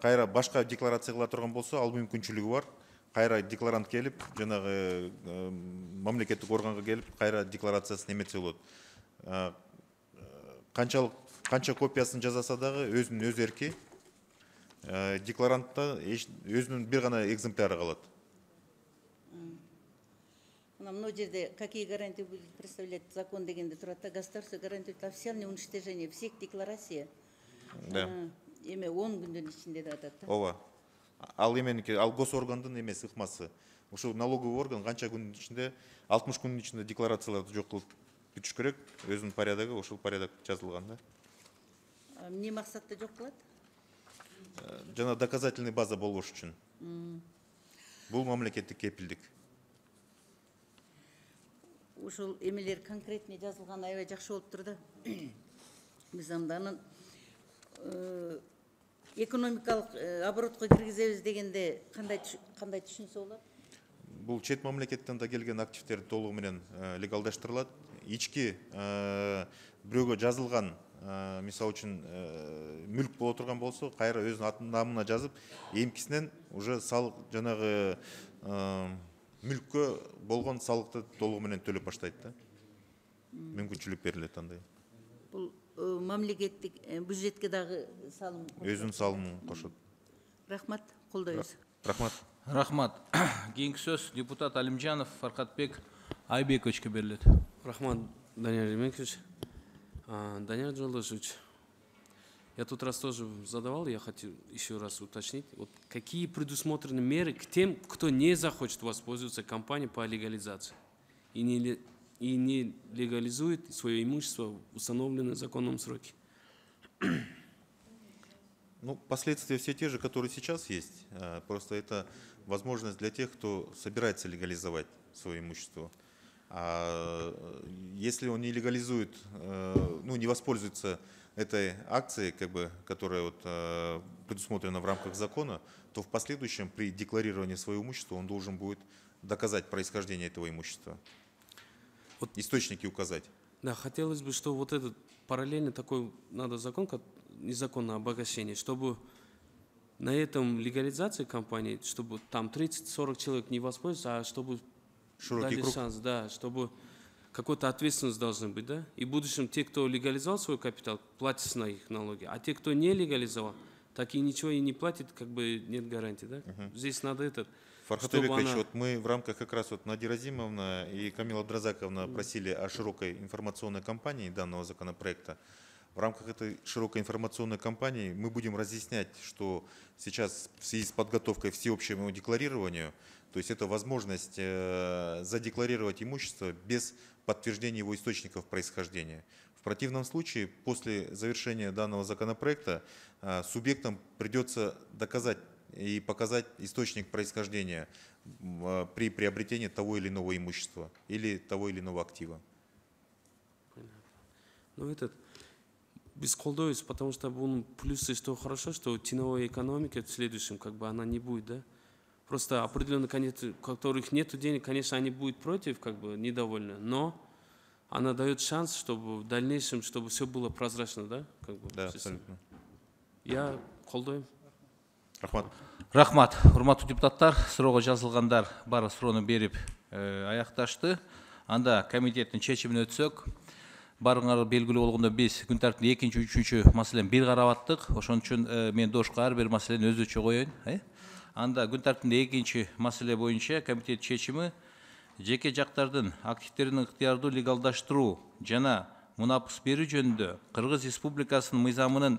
кайра башка декларация кыла турган болсо, ал мүмкүнчүлүгү бар. Кайра декларант келип, жанагы мамлекеттик органга келип, кайра декларациясын эметсе болот. Канча копиясын жасаса дагы өзүнүн өз эрки. Декларантта өзүнүн бир гана экземпляры калат.
Мына жерде какие гарантии будет представлять закон дегенде турат, государство гарантирует официальное уничтожение всех деклараций.
Да.
10 күндүн ичинде деп атат.
Ооба. Ал эменики, ал госоргандын эмеси, ыкмасы. Ушул налоговый орган канча күндүн ичинде, 60 күндүн ичинде декларацияларды жок кылып бүтүш керек. Өзүнүн порядогу, ушул порядок жазылган да.
Эмне максатта жок кылат?
Жана доказательный база болбош үчүн. Бул мамлекеттик кепилдик.
Ушул эмелер конкретный жазылган аябай жакшы болуп тур да. Биз андан экономикалык оборотко киргизебиз дегенде кандай түшүнсө болот?
Бул чет мамлекеттен да келген активдер толугу менен легалдаштырылат. Ички бирөөгө жазылган, мисалы үчүн мүлк боло турган болсо, кайра өзүнүн атын намына жазып, эмкисинен уже салык жанагы мүлккө болгон салыкты толугу менен төлөп баштайт да. Мүмкүнчүлүк берилет андай.
Бул мамлекеттик бюджетке дагы салым.
Өзүнүн салымын кошот.
Рахмат, колдойбуз.
Рахмат.
Рахмат. Кийинки сөз депутат Алимжанов Фаркатбек Айбековичке берилет.
Рахмат, Данияр Ремикович. Данияр Жолдошевич, я тут раз тоже задавал, я хотел еще раз уточнить, вот какие предусмотрены меры к тем, кто не захочет воспользоваться кампанией по легализации и и не легализует свое имущество в установленные законом сроки.
Ну, последствия все те же, которые сейчас есть. Просто это возможность для тех, кто собирается легализовать свое имущество. А если он не легализует, ну, не воспользуется этой акцией, как бы, которая вот, предусмотрена в рамках закона, то в последующем при декларировании своего имущества он должен будет доказать происхождение этого имущества. Вот источники указать.
Да, хотелось бы, что вот этот параллельно такой надо закон, как незаконное обогащение, чтобы на этом легализации компании, чтобы там 30-40 человек не воспользоваться, а чтобы
Широкий
дали
круг.
шанс, да, чтобы какой-то ответственность должна быть, да. И в будущем те, кто легализовал свой капитал, платят на их налоги, а те, кто не легализовал, так и ничего и не платит, как бы нет гарантии, да. Здесь надо этот.
Фархат Аликович, вот мы в рамках как раз вот Надира Азимовна и Камила Абдразаковна просили о широкой информационной кампании данного законопроекта. В рамках этой широкой информационной кампании мы будем разъяснять, что сейчас в связи с подготовкой к всеобщему декларированию, то есть это возможность задекларировать имущество без подтверждения его источников происхождения. В противном случае, после завершения данного законопроекта, субъектам придется доказать и показать источник происхождения при приобретении того или иного имущества или того или иного актива.
Ну, этот бесколдовец, потому что плюсы, что хорошо, что теневая экономика в следующем, как бы она не будет, да. Просто определенно, конечно, у которых нет денег, конечно, они будут против, как бы недовольны, но она дает шанс, чтобы в дальнейшем, чтобы все было прозрачно, да? Как бы,
Да, абсолютно.
Я колдоем.
Рахмат.
Рахмат. Урматтуу депутаттар, суроого жазылгандар баары суроону берип аякташты. Анда комитеттин чечимине өтсөк, баарыңар белгилүү болгондой биз күн тартибинде экинчи, үчүнчү маселени бир карап аттык. Ошон үчүн мен дошко ар бир маселени өзүнчө коеюн. Анда күн тартибинде экинчи маселе боюнча комитет чечими жеке жактардын активдерин ыктыярдуу легалдаштыруу жана мунапыс берүү жөнүндө Кыргыз Республикасынын мыйзамынын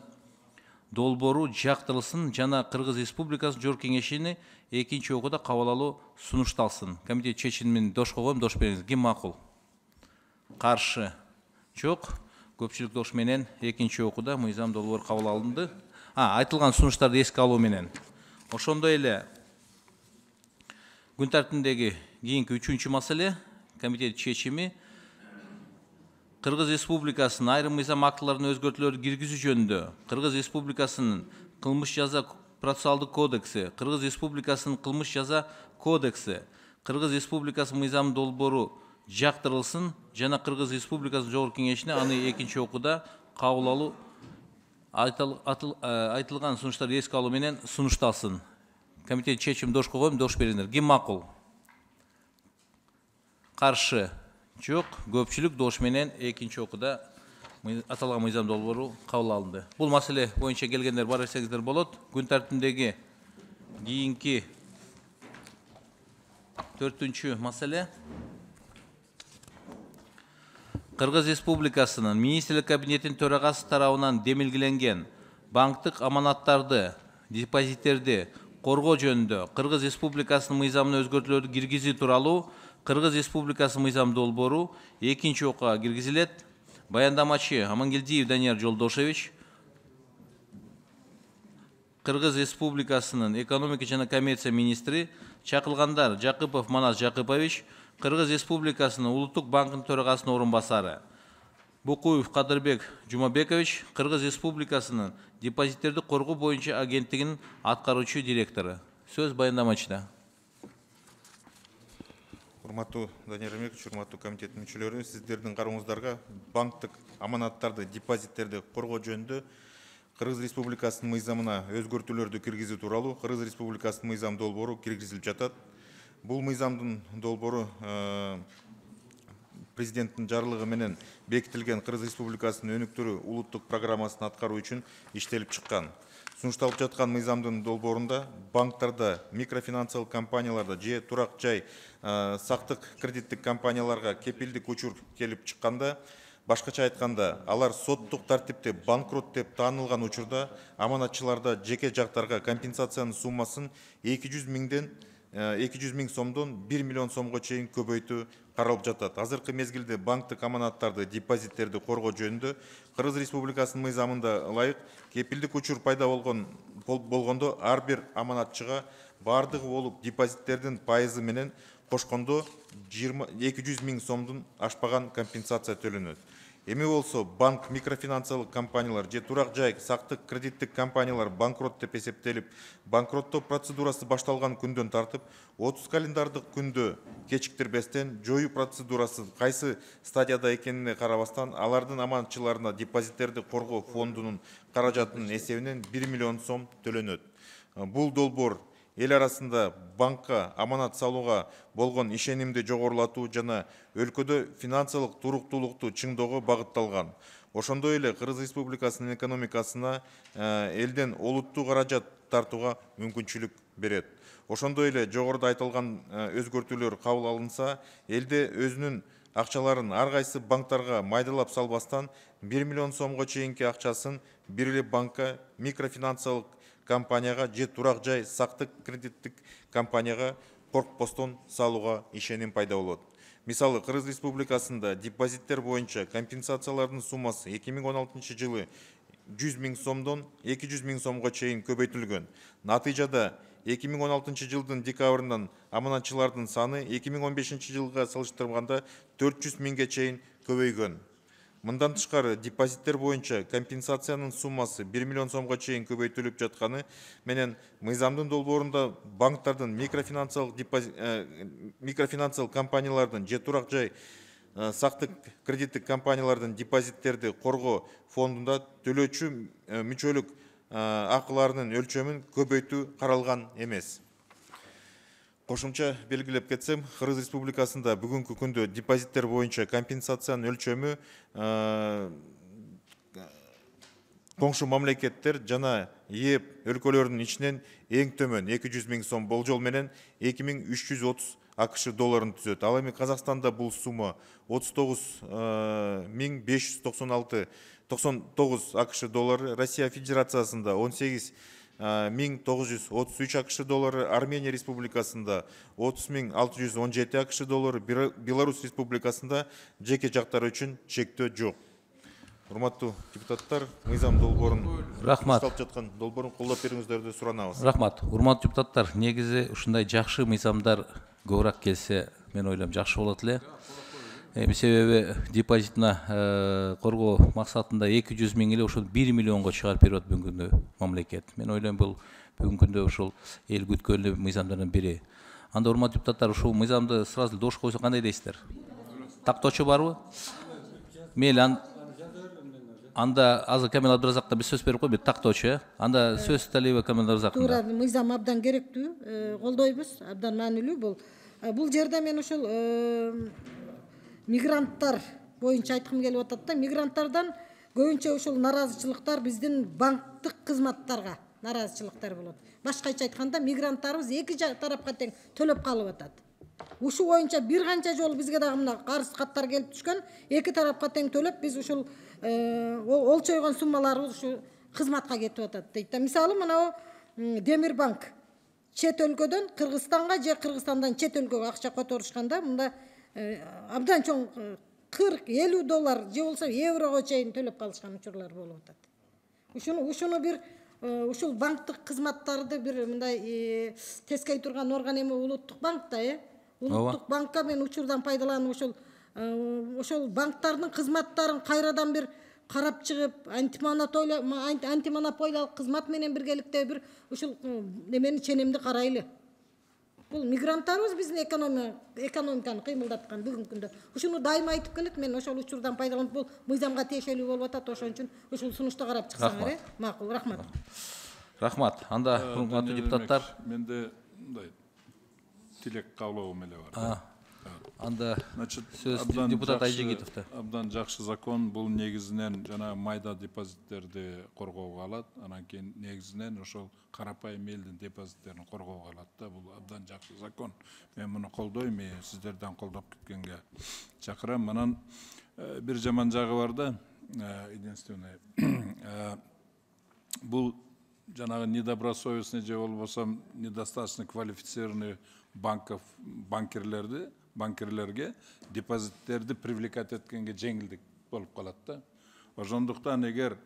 долбоору жактырылсын жана Кыргыз Республикасынын Жогорку Кеңешине экинчи окууда кабыл алуу сунушталсын. Комитет чечимин дошко коем, дош бериңиз. Ким макул? Каршы? Жок. Көпчүлүк дош менен экинчи окууда мыйзам долбоору кабыл алынды. Айтылган сунуштарды эске алуу менен. Ошондой эле күн тартибиндеги кийинки үчүнчү маселе комитет чечими Кыргыз Республикасынын айрым мыйзам актыларына өзгөртүүлөрдү киргизүү жөнүндө Кыргыз Республикасынын кылмыш жаза процессуалдык кодекси, Кыргыз Республикасынын кылмыш жаза кодекси, Кыргыз Республикасынын мыйзам долбоору жактырылсын жана Кыргыз Республикасынын Жогорку Кеңешине аны экинчи окууда кабыл алуу айтылган сунуштарды эске алуу менен сунушталсын. Комитет чечим дошко коем, дош бериңиздер. Ким макул? Каршы? Жок. Көпчүлүк дош менен экинчи окууда аталган мыйзам долбоору кабыл алынды. Бул маселе боюнча келгендер бар десеңиздер болот. Күн тартибиндеги кийинки 4-үнчү маселе Кыргыз Республикасынын Министрлик кабинетинин төрагасы тарабынан демилгеленген банктык аманаттарды, депозиттерди коргоо жөнүндө Кыргыз Республикасынын мыйзамына өзгөртүүлөрдү киргизүү тууралуу Кыргыз Республикасынын мыйзам долбоору экинчи окууга киргизилет. Баяндамачы Амангелдиев Данияр Жолдошевич, Кыргыз Республикасынын экономика жана коммерция министри, чакырылгандар Жакыпов Манас Жакыпович, Кыргыз Республикасынын Улуттук банкынын төрагасынын орун басары, Букуев Кадырбек Жумабекович, Кыргыз Республикасынын депозиттерди коргоо боюнча агенттигинин аткаруучу директору. Сөз баяндамачыда.
Урматтуу Данияр Ремекович, урматтуу комитеттин мүчөлөрү, сиздердин карооңуздарга банктык аманаттарды, депозиттерди коргоо жөнүндө Кыргыз Республикасынын мыйзамына өзгөртүүлөрдү киргизүү тууралуу Кыргыз Республикасынын мыйзам долбоору киргизилип жатат. Бул мыйзамдын долбоору президенттин жарлыгы менен бекитилген Кыргыз Республикасынын өнүктүрүү улуттук программасын аткаруу үчүн иштелип чыккан. Сунушталып жаткан мыйзамдын долбоорунда банктарда, микрофинансылык компанияларда же турак жай сактык кредиттик компанияларга кепилдик учур келип чыкканда, башкача айтканда, алар соттук тартипте банкрот деп таанылган учурда аманатчыларда жеке жактарга компенсациянын суммасын 200 миң сомдон 1 миллион сомго чейин көбөйтүү каралып жатат. Азыркы мезгилде банктык аманаттарды, депозиттерди коргоо жөнүндө Кыргыз Республикасынын мыйзамында ылайык кепилдик учур пайда болгондо ар бир аманатчыга бардыгы болуп депозиттердин пайызы менен кошкондо 200 000 сомдун ашпаган компенсация төлөнөт. Эми болсо банк, микрофинансылык компаниялар же турак жай сактык кредиттик компаниялар банкрот деп эсептелип, банкроттоо процедурасы башталган күндөн тартып 30 календардык күндө кечиктирбестен жоюу процедурасы кайсы стадияда экенине карабастан алардын аманатчыларына депозиттерди коргоо фондунун каражатынын эсебинен 1 миллион сом төлөнөт. Бул долбоор эл арасында банкка аманат салууга болгон ишенимди жогорулатуу жана өлкөдө финансылык туруктуулукту чыңдоого багытталган. Ошондой эле Кыргыз Республикасынын экономикасына элден олуттуу каражат тартууга мүмкүнчүлүк берет. Ошондой эле жогоруда айтылган өзгөртүүлөр кабыл алынса, элде өзүнүн акчаларын ар кайсы банктарга майдалап салбастан 1 миллион сомго чейинки акчасын бир эле банкка, микрофинансылык компанияга же турак жай сактык кредиттик компанияга коркпостон салууга ишеним пайда болот. Мисалы, Кыргыз Республикасында депозиттер боюнча компенсациялардын суммасы 2016 жылы 100 000 сомдон 200 000 сомго чейин көбөйтүлгөн. Натыйжада 2016 жылдын декабрынан аманатчылардын саны 2015 жылга салыштырганда 400 000ге чейин көбөйгөн. Мындан тышкары депозиттер боюнча компенсациянын суммасы 1 миллион сомго чейин көбөйтүлүп жатканы менен мыйзамдын долбоорунда банктардын микрофинансылык компаниялардын же турак жай сактык кредиттик компаниялардын депозиттерди коргоо фондунда төлөөчү мүчөлүк акыларынын өлчөмүн көбөйтүү каралган эмес. Кошумча белгилеп кетсем, Кыргыз Республикасында бүгүнкү күндө депозиттер боюнча компенсациянын өлчөмү коңшу мамлекеттер жана ЕЭП өлкөлөрүнүн ичинен эң төмөн 200 000 сом болжол менен 2330 АКШ долларын түзөт. Ал эми Казакстанда бул сумма 39,599 АКШ доллары, Россия Федерациясында 18,933 АКШ доллары, Армения Республикасында 30,617 АКШ доллары, Беларусь Республикасында жеке жактар үчүн чектөө жок. Урматтуу депутаттар, мыйзам долбоорун
Рахмат.
жаткан долбоорун колдоп бериңиздерди суранабыз.
Рахмат. Урматтуу депутаттар, негизи ушундай жакшы мыйзамдар көбүрөөк келсе, мен ойлойм жакшы болот эле. Себеби депозитина коргоо максатында 200 000 эле ошол 1 миллионго чыгарып берип атат бүгүнкү күндө мамлекет. Мен ойлойм бул бүгүнкү күндө ушул эл күткөн мыйзамдардын бири. Анда урматтуу депутаттар, ушул мыйзамды сразу дош койсо кандай дейсиздер? Тактоочу барбы? Мейли, анда азыр Камил Абдыразакка биз сөз берип койбуз, тактоочу, Анда сөз Талиева Камил Абдыразакында.
Туура, мыйзам абдан керектүү, колдойбуз, абдан маанилүү бул. Бул жерде мен ушул мигранттар боюнча айткым келип атат да, мигранттардан көбүнчө ушул наразычылыктар биздин банктык кызматтарга наразычылыктар болот. Башкача айтканда, мигранттарыбыз эки тарапка тең төлөп калып атат. Ушу боюнча бир канча жолу бизге дагы мына карыз каттар келип түшкөн, эки тарапка тең төлөп биз ушул олчойгон суммаларыбыз ушу кызматка кетип атат дейт да. Мисалы, мына Демир банк чет өлкөдөн Кыргызстанга же Кыргызстандан чет өлкөгө акча которушканда мында абдан чоң 40-50 доллар же болсо еврого чейин төлөп калышкан учурлар болуп атат. Ушуну бир ушул банктык кызматтарды бир мындай тескей турган орган эми улуттук банк да, улуттук банкка мен учурдан пайдаланып ошол банктардын кызматтарын кайрадан бир карап чыгып, антимонополиялык кызмат менен биргеликте бир ушул немени ченемди карайлы. Бул мигранттарыбыз биздин экономиканы кыймылдаткан бүгүнкү күндө. Ушуну дайыма айтып келет, мен ошол учурдан пайдаланып бул мыйзамга тиешелүү болуп атат, ошон үчүн ушул сунушту карап чыксаңар, макул, рахмат.
Рахмат. Анда урматтуу депутаттар,
менде мындай тилек каалоом эле бар.
Анда сөз депутат Айжигитовдо.
Абдан жакшы закон, бул негизинен жана майда депозиттерди коргоого алат, анан кийин негизинен ошол карапайым элдин депозиттерин коргоого алат да, бул абдан жакшы закон. Мен муну колдойм, сиздерден колдоп кеткенге чакырам. Анан бир жаман жагы бар да, единственное. Бул жанагы недобросовестный же болбосо недостаточно квалифицированный банкирлерди банкирлерге депозиттерди привлекать эткенге жеңилдик болуп калат да. Ошондуктан эгер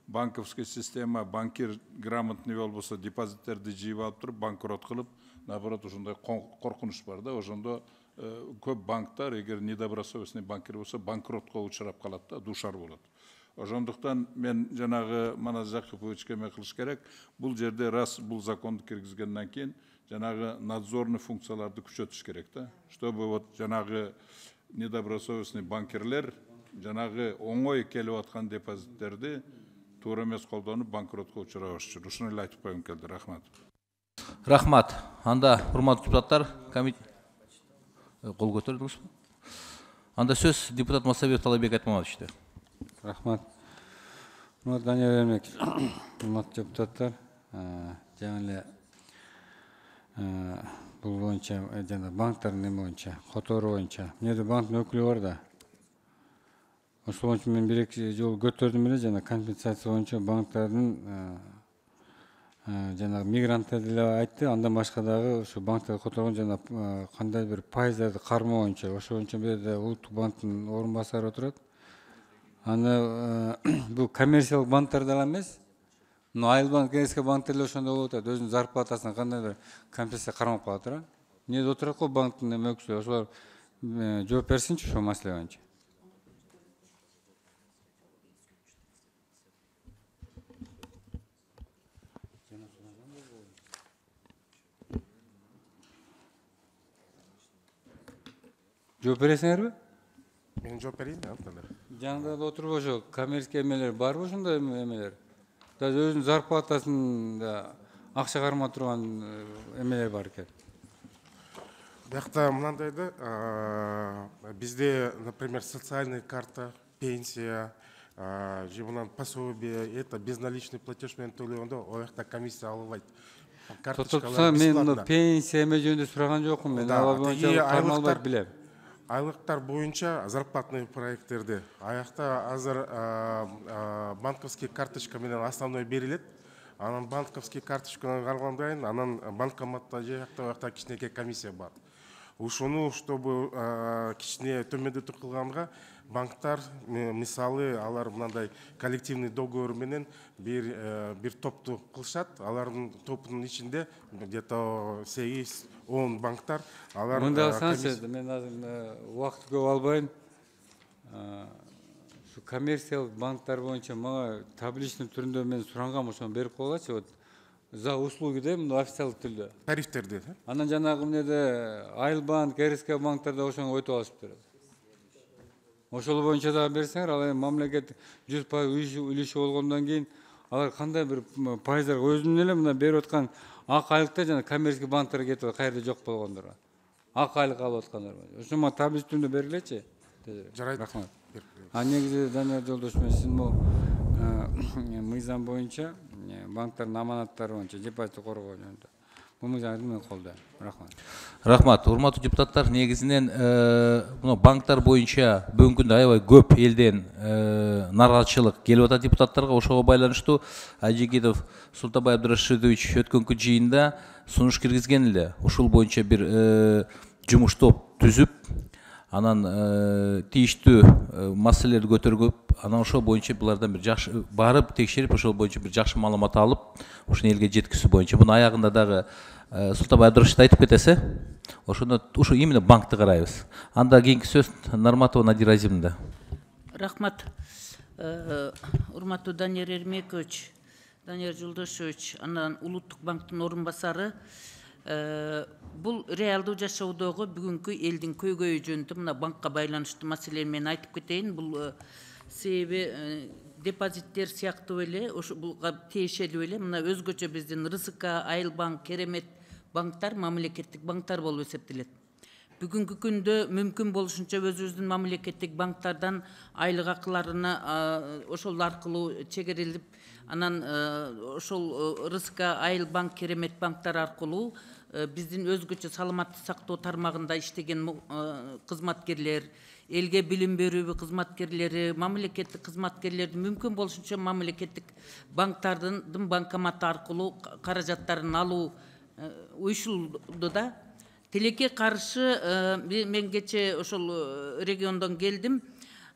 банковский система, банкир грамотный болбосо, депозиттерди жыйып алып туруп, банкрот кылып, наоборот, ошондой коркунуч бар да. Ошондо көп банктар, эгер недобросовестный банкир болсо, банкротко учурап калат да, душар болот. Ошондуктан мен жанагы Манас Жакиповичке эме кылыш керек. Бул жерде раз бул законду киргизгенден кийин жанагы надзорный функцияларды күчөтүш керек да. Чтобы вот жанагы недобросовестный банкирлер жанагы оңой келип аткан депозиттерди туура эмес колдонуп банкротко учурабаш үчүн. Ушуну эле айтып койгум келди. Рахмат.
Рахмат. Анда урматтуу депутаттар, кол көтөрдүңүзбү? Анда сөз депутат Масабек Талайбек Айтмаматовичте.
Рахмат. Данияр Эрмекович, урматтуу депутаттар, жаңы эле бул боюнча жана банктардын эме боюнча, котору боюнча, эмнеде банктын өкүлү бар да. Ошол боюнча мен бир-эки жолу көтөрдүм эле, жана компенсация боюнча банктардын жана мигранттарды эле айтты, андан башка дагы ошо банктарды которгон жана кандай бир пайыздарды кармоо боюнча, ошол боюнча бул жерде улуттук банктын орун басары отурат. Аны бул коммерциялык банктар дагы эмес, Айыл банк, КСК банктар эле ошондой болуп атат. Өзүнүн зарплатасына кандай бир компенсация кармап калат да. Эмнеде отурат го банктын эме өкүлдөрү, ошолор жооп берсинчи ошол маселе боюнча. Жооп бересиңерби?
Мен жооп берейин да.
Жаңында да отуруп ошо коммерческий эмелер барбы, ошондой эмелер? Даже өзүнүн зарплатасында акча карма турган эмелер бар экен.
Биякта мынандай да, бизде, например, социальная карта, пенсия, же мындан пособие, это безналичный платеж менен төлөгөндө о жакта комиссия алынбайт.
Карточкалар бесплатно. Мен пенсия эме жөнүндө сураган жокмун, мен ала боюнча кармалбайт билем.
Айлыктар боюнча зарплатный проекттерди аякта азыр банковский карточка менен основной берилет. Анан банковский карточканы кармалгандан кийин анан банкоматта же жакта кичинекей комиссия бар. Ушуну чтобы кичине төмөндөтүү кылганга банктар мисалы алар мындай коллективный договор менен бир топту кылышат. Алардын топтунун ичинде где-то 8-10 банктар алар.
Мында алсаңыз, мен азыр убакыт көп албайм. Şu коммерциялык банктар боюнча мага табличный түрүндө мен сурангам, ошону берип койгулачы. Вот за услуги да, официалдык түрдө.
Тарифтерди.
Анан жанагы эмнеде Айыл банк, КСК банктарда ошону өтүп алышыптыр. Ошол боюнча дагы берсеңер, ал эми мамлекет 100% үлүшү болгондон кийин алар кандай бир пайыздар өзүнүн эле мына берип аткан ак айлыкта жана коммерческий банктарга кетип каерде жок болгондор. Ак айлык алып аткандар. Ошо мага таблица түрүндө бергилечи.
Жарайт.
Рахмат. Негизи Данияр Жолдош мен сиздин бул мыйзам боюнча банктардын аманаттары боюнча депозитти коргоо жөнүндө бул мыйзамды мен колдойм. Рахмат.
Рахмат. Урматтуу депутаттар, негизинен мына банктар боюнча бүгүнкү күндө аябай көп элден нааразычылык келип атат депутаттарга. Ошого байланыштуу Ажигитов Султанбай Абдурашидович өткөнкү жыйында сунуш киргизген эле. Ушул боюнча бир жумуш топ түзүп, анан тийиштүү маселелерди көтөргөп, анан ошол боюнча булардан бир жакшы барып текшерип, ошол боюнча бир жакшы маалымат алып, ушуну элге жеткизүү боюнча. Муну аягында дагы Султанбай Абдурашид айтып кетесе, ошондо ушу именно банкты карайбыз. Анда кийинки сөз Нарматова Надира Азимовна.
Рахмат. Урматтуу Данияр Эрмекович, Данияр Жолдошович, анан улуттук банктын орун басары. Бул реалдуу жашоодогу бүгүнкү элдин көйгөйү жөнүндө мына банкка байланыштуу маселени мен айтып кетейин. Бул себеби депозиттер сыяктуу эле ушуга тиешелүү эле мына өзгөчө биздин РСК, Айыл банк, Керемет банктар мамлекеттик банктар болуп эсептелет. Бүгүнкү күндө мүмкүн болушунча өзүбүздүн мамлекеттик банктардан айлык акыларына ошол аркылуу чегерилип, анан ошол РСК, Айыл банк, Керемет банктар аркылуу биздин өзгөчө саламаттык сактоо тармагында иштеген кызматкерлер, элге билим берүү кызматкерлери, мамлекеттик кызматкерлердин мүмкүн болушунча мамлекеттик банктардын банкоматы аркылуу каражаттарын алуу уюшулду да. Тилекке каршы мен кече ошол региондон келдим.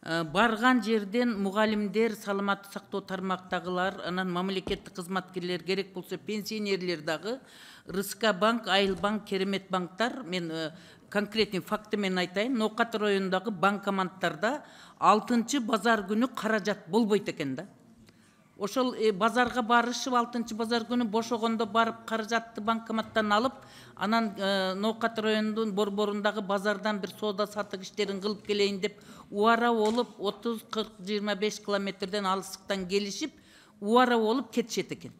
Барган жерден мугалимдер, саламаттык сактоо тармактагылар, анан мамлекеттик кызматкерлер, керек болсо пенсионерлер дагы РСК банк, Айыл банк, Керемет банктар, мен конкретный факты мен айтайын, Ноокат районундагы банкоматтарда 6-чы базар күнү каражат болбойт экен да. Ошол базарга барышып 6-чы базар күнү бошогондо барып каражатты банкоматтан алып, анан Ноокат районунун борборундагы базардан бир соода сатык иштерин кылып келейин деп убара болуп 30-40-25 километрден алыстыктан келишип, убара болуп кетишет экен.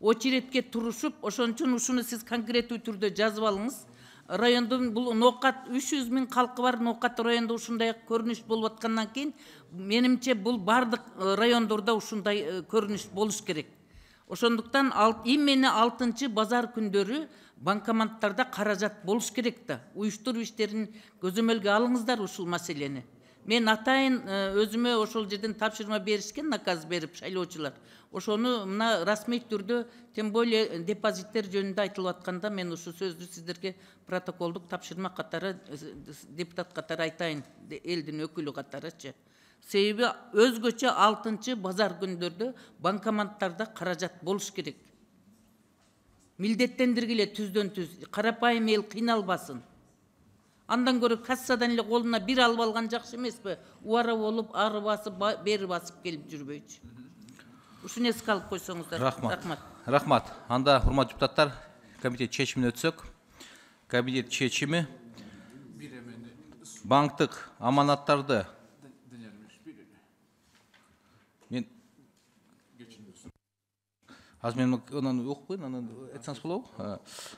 Очередке турушуп, ошон үчүн ушуну сиз конкреттүү түрдө жазып алыңыз. Райондун бул Ноокат 300 000 калкы бар, Ноокат районунда ушундай көрүнүш болуп аткандан кийин, менимче бул бардык райондордо ушундай көрүнүш болуш керек. Ошондуктан имени 6-чы базар күндөрү банкоматтарда каражат болуш керек да. Уюштуруп иштерин көзөмөлгө алыңыздар ушул маселени. Мен атайын өзүмө ошол жерден тапшырма беришкен, наказ берип шайлоочулар. Ошону мына расмий түрдө, тем более депозиттер жөнүндө айтылып атканда, мен ушу сөздү сиздерге протоколдук тапшырма катары, депутат катары айтайын, элдин өкүлү катарычы. Себеби өзгөчө 6-чы базар күндөрдө банкоматтарда каражат болуш керек. Милдеттендиргиле түздөн түз, карапайым эл кыйналбасын. Андан көрө кассадан эле колуна бир алып алган жакшы эмеспи? Убара болуп, ары басып, бери басып келип жүрбөйчү. Ушуну эске алып койсоңуздар.
Рахмат. Анда урматтуу депутаттар, комитет чечимине өтсөк. Комитет чечими банктык аманаттарды Аз мен онан окуйн, анан айтсаңыз болобу?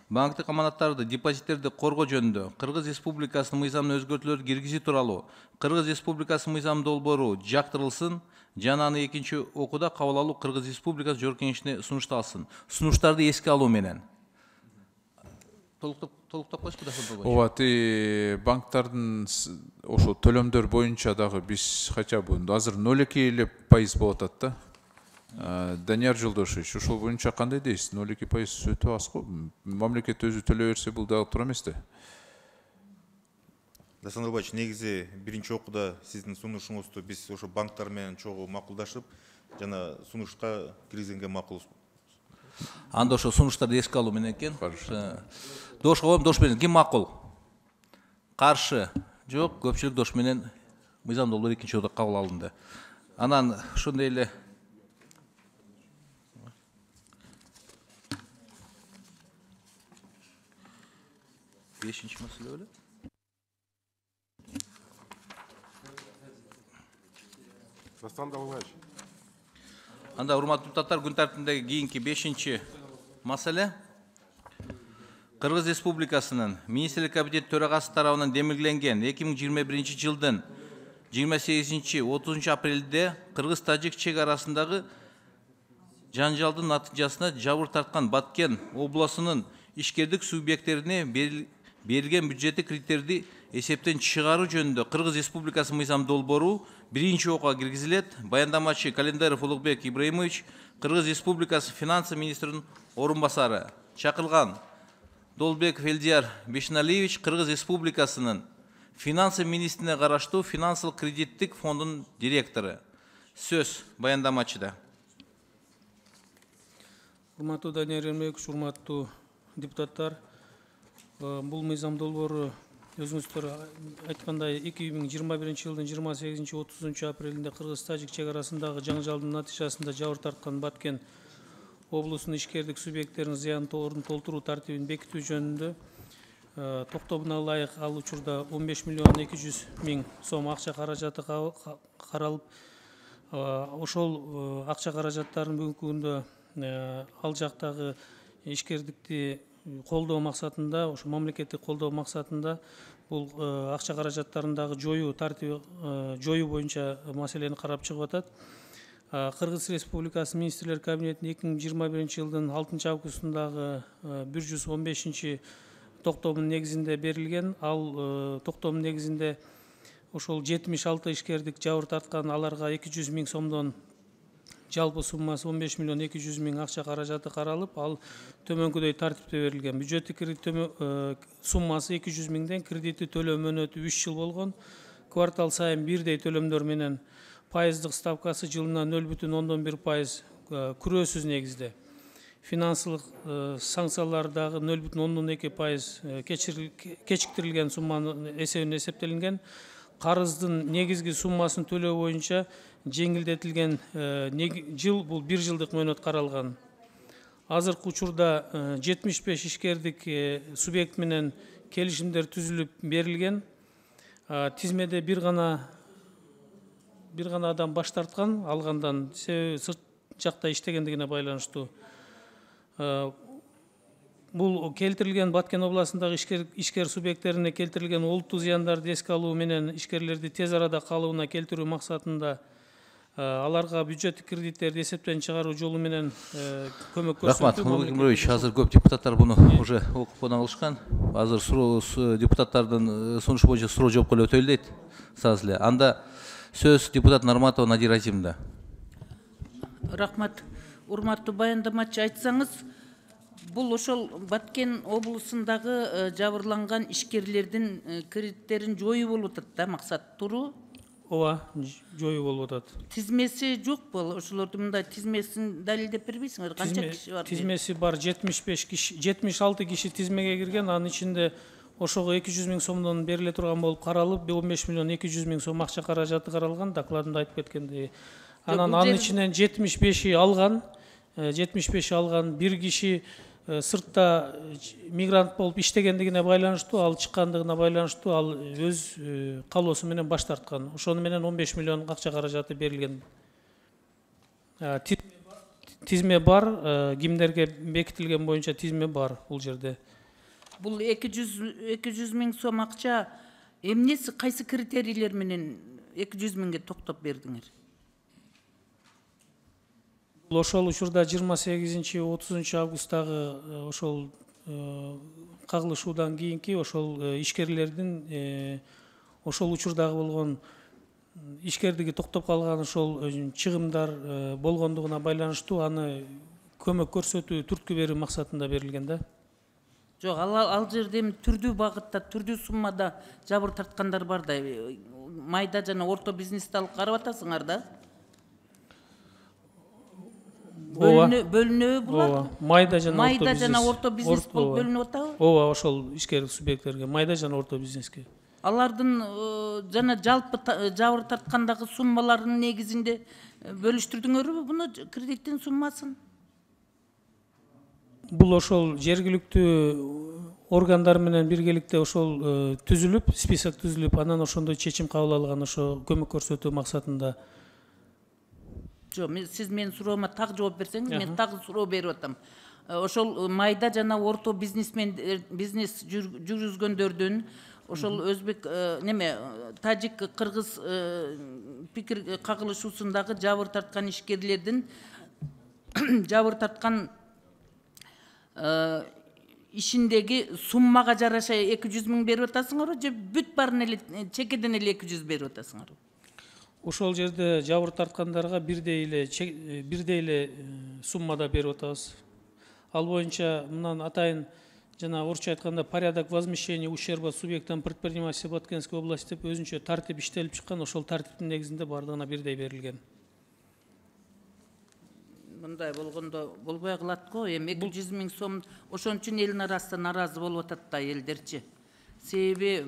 Банктык аманаттарды, депозиттерди коргоо жөнүндө Кыргыз Республикасынын мыйзамына өзгөртүүлөр киргизүү тууралуу Кыргыз Республикасынын мыйзам долбоору жактырылсын жана аны экинчи окууда кабыл алуу Кыргыз Республикасы Жогорку Кеңешине сунушталсын. Сунуштарды эске алуу менен. Толуктап койсузбу да?
Ооба, банктардын ошо төлөмдөр боюнча дагы биз хотя бы азыр 0,2% болуп атат да. Данияр Жолдошевич, ошол боюнча кандай дейсиз? 0,2% өтө аз го. Мамлекет өзү төлөй берсе бул дагы туура эмес да.
Дасан Нурбаевич, негизи биринчи окууда сиздин сунушуңузду биз ошо банктар менен чогуу макулдашып, жана сунушка киргизгенге макулбуз.
Анда ошо сунуштарды эске алуу менен экен. Дош коем, дош менен ким макул? Каршы жок, көпчүлүк дош менен мыйзам долбоору экинчи окууда кабыл алынды. Анан ошондой эле бешинчи маселе беле? Анда урматтуу депутаттар, күн тартибиндеги кийинки 5-чи маселе Кыргыз Республикасынын Министрлик Кабинети төрагасы тарабынан демилгеленген 2021 жылдын 28-30 апрелде Кыргыз-Тажик чек арасындагы жанжалдын натыйжасына жабыр тарткан Баткен областынын ишкердик субъекттерине берилген бюджеттик кредиттерди эсептен чыгаруу жөнүндө Кыргыз Республикасы мыйзам долбоору биринчи окууга киргизилет. Баяндамачы Календаров Улукбек Ибраимович, Кыргыз Республикасы финансы министринин орун басары. Чакырылган Долбеков Элдияр Бешналиевич, Кыргыз Республикасынын финансы министрине караштуу финансылык кредиттик фондунун директору. Сөз баяндамачыда.
Урматтуу Данияр Ермекович, урматтуу депутаттар, бул мыйзам долбоору өзүңүздөр айткандай 2021 жылдын 28-30 апрелинде Кыргыз-Тажик чек арасындагы жаңжалдын натыйжасында жабыр тарткан Баткен облусунун ишкердик субъекттеринин зыянын толтуруу тартибин бекитүү жөнүндө токтомуна ылайык ал учурда 15 миллион 200 000 сом акча каражаты каралып, ошол акча каражаттарын бүгүнкү күндө ал жактагы ишкердикти колдоо максатында, ошо мамлекеттик колдоо максатында бул акча каражаттарындагы жоюу тартиби жоюу боюнча маселени карап чыгып атат. Кыргыз Республикасы Министрлер Кабинетинин 2021 жылдын 6 августундагы 115 токтомунун негизинде берилген. Ал токтомдун негизинде ошол 76 ишкердик жабыр тарткан, аларга 200 000 сомдон жалпы суммасы 15 миллион 200 миң акча каражаты каралып, ал төмөнкүдөй тартипте берилген. Бюджеттик кредит суммасы 200 миңден, кредити төлөө мөөнөтү 3 жыл болгон. Квартал сайын бирдей төлөмдөр менен пайыздык ставкасы жылына 0,1% күрөөсүз негизде. Финансылык санкциялар дагы 0,2% кечиктирилген сумманын эсебинен эсептелинген. Карыздын негизги суммасын төлөө боюнча жеңилдетилген жыл бул 1 жылдык мөөнөт каралган. Азыркы учурда 75 ишкердик субъект менен келишимдер түзүлүп берилген. Тизмеде бир гана адам баш тарткан алгандан, себеби сырт жакта иштегендигине байланыштуу. Бул келтирилген Баткен областындагы ишкер субъекттерине келтирилген олуттуу зыяндарды эске алуу менен ишкерлерди тез арада калыбына келтирүү максатында аларга бюджеттик кредиттерди эсептен чыгаруу жолу менен көмөк көрсөтүү.
Рахмат, Нурлан Кемирович, азыр көп депутаттар буну уже окуп кана алышкан. Азыр депутаттардын сунушу боюнча суроо жоопко эле өтөлү дейт. Саз эле. Анда сөз депутат Нарматова Надира Азимовна.
Рахмат. Урматтуу баяндамачы, айтсаңыз, бул ошол Баткен облусундагы жабырланган ишкерлердин кредиттерин жоюу болуп атат да, максат туруу?
Ооба, жоюу болуп атат.
Тизмеси жокпу? Ошолордун мындай тизмесин далилдеп бербейсиңер? Канча киши бар?
Тизмеси бар, 76 киши тизмеге кирген, анын ичинде ошого 200 миң сомдон бериле турган болуп каралып, 15 миллион 200 миң сом акча каражаты каралган, докладында айтып кеткендей. Анын ичинен 75 алган, 75 алган, бир киши сыртта мигрант болуп иштегендигине байланыштуу, ал чыккандыгына байланыштуу, ал өз калоосу менен баш тарткан. Ошону менен 15 миллион акча каражаты берилген. Тизме бар, кимдерге бекитилген боюнча тизме бар бул жерде.
Бул 200 миң сом акча эмнеси, кайсы критерийлер менен 200 миңге токтоп бердиңер?
Ошол учурда 28-30 августтагы ошол кагылышуудан кийинки ошол ишкерлердин ошол учурдагы болгон ишкердиги токтоп калган ошол чыгымдар болгондугуна байланыштуу аны көмөк көрсөтүү, түрткү берүү максатында берилген да.
Жок, ал жерде эми түрдүү багытта, түрдүү суммада жабыр тарткандар бар да. Майда жана орто бизнести алып карап атасыңар да? Бөлүнөбү булар?
Майда жана
орто бизнес болуп бөлүнүп атабы?
Ооба, ошол ишкер субъекттерге, майда жана орто бизнеске.
Алардын жана жалпы жабыр тарткандагы суммаларынын негизинде бөлүштүрдүңөрбү буну кредиттин суммасын?
Бул ошол жергиликтүү органдар менен биргеликте ошол түзүлүп, список түзүлүп, анан ошондой чечим кабыл алган, ошо көмөк көрсөтүү максатында.
Жок, сиз менин суроома так жооп берсеңиз, мен так суроо берип атам. Ошол майда жана орто бизнес жүргүзгөндөрдүн, ошол өзбек тажик, кыргыз пикир кагылышуусундагы жабыр тарткан ишкерлердин жабыр тарткан ишиндеги суммага жараша 200 миң берип атасыңарбы, же бүт баарын эле чекеден эле 200 берип атасыңарбы?
Ошол жерде жабыр тарткандарга бирдей эле суммада берип атабыз. Ал боюнча мындан атайын жана орусча айтканда порядок возмещения ущерба субъектам предпринимательства Баткенской области деп өзүнчө тартип иштелип чыккан, ошол тартиптин негизинде бардыгына бирдей берилген.
Мындай болгондо болбой калат го, эми 200 миң сом ошон үчүн элдин арасында нааразы болуп атат да элдерчи. Себеби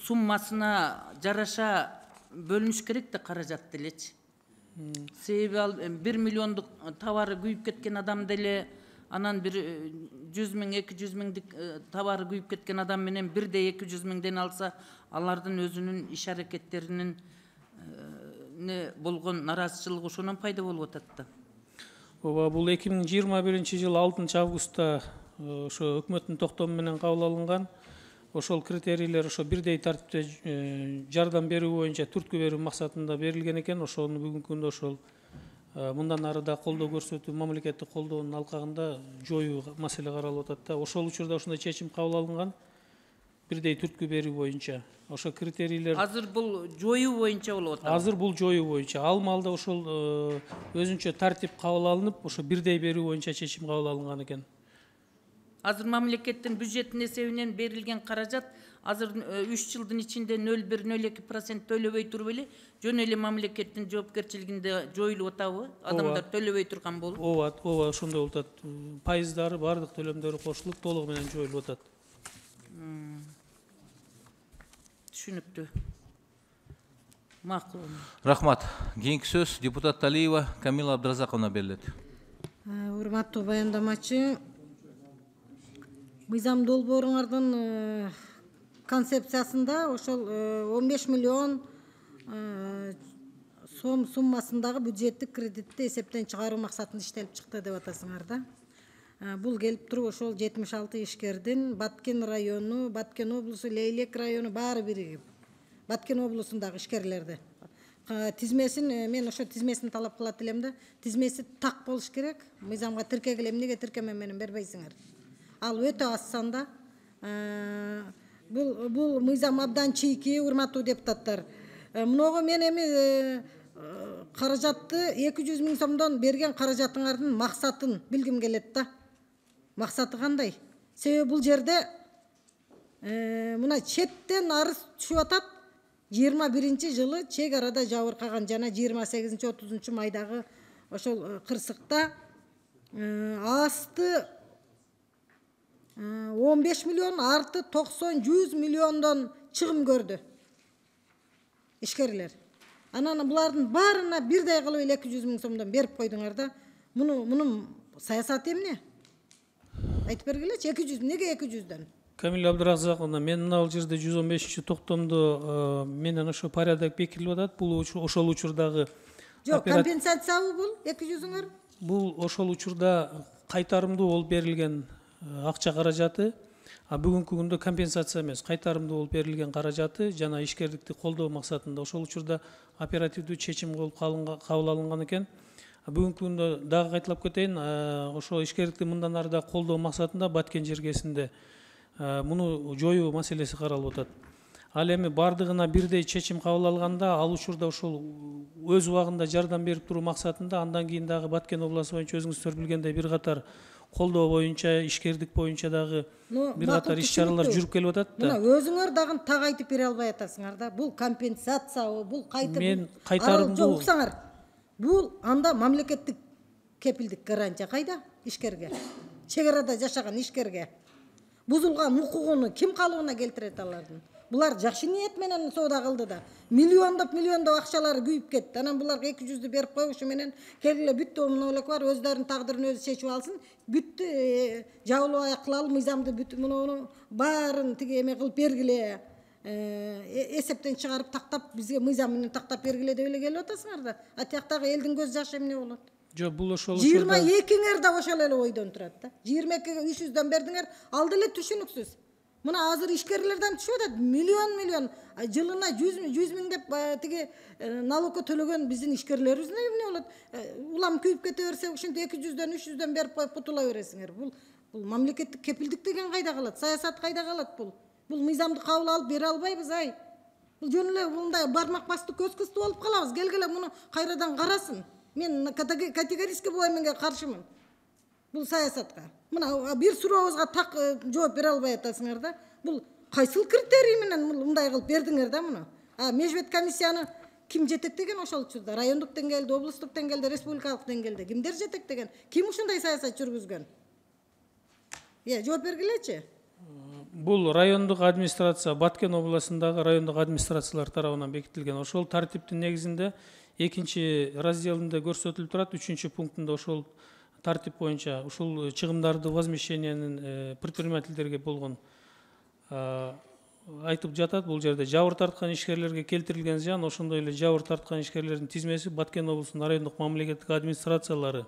суммасына жараша бөлүнүш керек да каражат делечи. Себеби ал 1 миллиондук товары күйүп кеткен адам деле, анан бир 100 миң, 200 миңдик товары күйүп кеткен адам менен бирдей 200 миңден алса, алардын өзүнүн иш аракеттеринин болгон нараазычылыгы ошонон пайда болуп атат да.
Ооба, бул 2021 жыл 6 августта ошо өкмөттүн токтому менен кабыл алынган. Ошол критерийлер ошо бирдей тартипте жардам берүү боюнча түрткү берүү максатында берилген экен. Ошону бүгүнкү күндө ошол мындан ары да колдоо көрсөтүү, мамлекеттик колдоонун алкагында жоюу маселе каралып атат да. Ошол учурда ошондой чечим кабыл алынган. бирдей түрткү берүү боюнча ошо критерийлер
азыр бул жоюу боюнча болуп атат.
азыр бул жоюу боюнча ал маалда ошол өзүнчө тартип кабыл алынып ошо бирдей берүү боюнча чечим кабыл алынган экен.
Азыр мамлекеттин бюджеттин эсебинен берилген каражат азыр 3 жылдын ичинде 0,1-0,2% төлөбөй туруп эле жөн эле мамлекеттин жоопкерчилигинде жоюлуп атабы? Адамдар төлөбөй турган болуп?
Ооба, ошондой болуп атат. Пайыздары, бардык төлөмдөрү кошулуп толугу менен жоюлуп атат.
Түшүнүктүү. Макул.
Рахмат. Кийинки сөз депутат Талиева Камила Абдыразаковна берилет.
Урматтуу баяндамачы, мыйзам долбооруңардын концепциясында ошол 15 миллион сом суммасындагы бюджеттик кредитти эсептен чыгаруу максатында иштелип чыкты деп атасыңар да. Бул келип туруп ошол 76 ишкердин Баткен району, Баткен облусу, Лейлек району баары биригип. Баткен облусундагы ишкерлерди. Тизмесин мен ошо тизмесин талап кылат элем да. Тизмеси так болуш керек. Мыйзамга тиркегиле эмнеге тиркеме менен бербейсиңер? Ал өтө аз санда. Бул мыйзам абдан чийки, урматтуу депутаттар. Мыного мен эми каражатты 200 000 сомдон берген каражатыңардын максатын билгим келет да. Максаты кандай? Себеби бул жерде мына четтен арыз түшүп атат. 21-жылы чек арада жабыркаган жана 28-30 майдагы ошол кырсыкта асты 15 миллион, арты 90-100 миллиондон чыгым көрдү ишкерлер. Анан булардын баарына бирдей кылып 200 000 сомдон берип койдуңар да. Мунун саясаты эмне? Айтып бергилечи, 200 неге 200дөн?
Камила Абдыразаковна, мен мына жерде 115-токтомдо менен ошо порядок бекитилип атат. Бул ошол учурдагы
жок, компенсациябы бул 200-үңөр?
Бул ошол учурда кайтарымдуу болуп берилген акча каражаты. Бүгүнкү күндө компенсация эмес, кайтарымдуу болуп берилген каражаты жана ишкерликти колдоо максатында ошол учурда оперативдүү чечим кабыл алынган экен. Бүгүнкү күндө дагы кайталап кетейин, ошо ишкерликти мындан ары да колдоо максатында Баткен жергесинде муну жоюу маселеси каралып атат. Ал эми бардыгына бирдей чечим кабыл алганда, ал учурда ошол өз убагында жардам берип туруу максатында андан кийин дагы Баткен областы боюнча өзүңүздөр билгендей бир катар колдоо боюнча, ишкердик боюнча дагы бир катар иш-чаралар жүрүп келип атат да.
Мына өзүңөр дагы так айтып бере албай атасыңар да. Бул компенсациябы, бул
мен кайтарымдуу
уксаңар. Бул анда мамлекеттик кепилдик гарантия кайда ишкерге? Чек арада жашаган ишкерге бузулган укугуну ким калыбына келтирет алардын? Булар жакшы ниет менен соода кылды да. Миллиондоп акчалары күйүп кетти. Анан буларга 200дү берип коюшу менен келгиле бүттү, мынолек бар, өздөрүнүн тагдырын өзү чечип алсын. Бүттү, жабылып кылалы мыйзамды, бүт муну баарын тиги эме кылып бергиле. Эсептен чыгарып тактап бизге мыйзам менен тактап бергиле деп эле келип атасыңар да. А тияктагы элдин көз жашы эмне болот?
Жок, бул ошол
22-ңер да ошол эле ойдон турат да. 22-ге 300дөн бердиңер, ал деле түшүнүксүз. Мына азыр ишкерлерден түшүп атат, миллион жылына 100 миң деп тиги налогко төлөгөн биздин ишкерлерибиз эмне болот? Улам күйүп кете берсе, ошентип 200дөн 300дөн берип коюп кутула бересиңер. Бул мамлекеттик кепилдик деген кайда калат? Саясат кайда калат бул? Бул мыйзамды кабыл алып бере албайбыз ай. Бул жөн эле мындай бармак басты көз кысты болуп калабыз. Келгиле муну кайрадан карасын. Мен категорически бул эмеге каршымын. Бул саясатка. Мына бир сурообузга так жооп бере албай атасыңар да. Бул кайсыл критерий менен мындай кылып бердиңер да муну? Межбет комиссияны ким жетектеген ошол учурда? Райондук деңгээлде, облустук деңгээлде, республикалык деңгээлде кимдер жетектеген? Ким ушундай саясат жүргүзгөн? Жооп бергилечи.
Бул райондук администрация, Баткен областындагы райондук администрациялар тарабынан бекитилген. Ошол тартиптин негизинде 2-разделинде көрсөтүлүп турат, 3-пунктунда ошол тартип боюнча ушул чыгымдарды возмещениянын предпринимательдерге болгон айтып жатат. Бул жерде жабыр тарткан ишкерлерге келтирилген зыян, ошондой эле жабыр тарткан ишкерлердин тизмеси Баткен облусунун райондук мамлекеттик администрациялары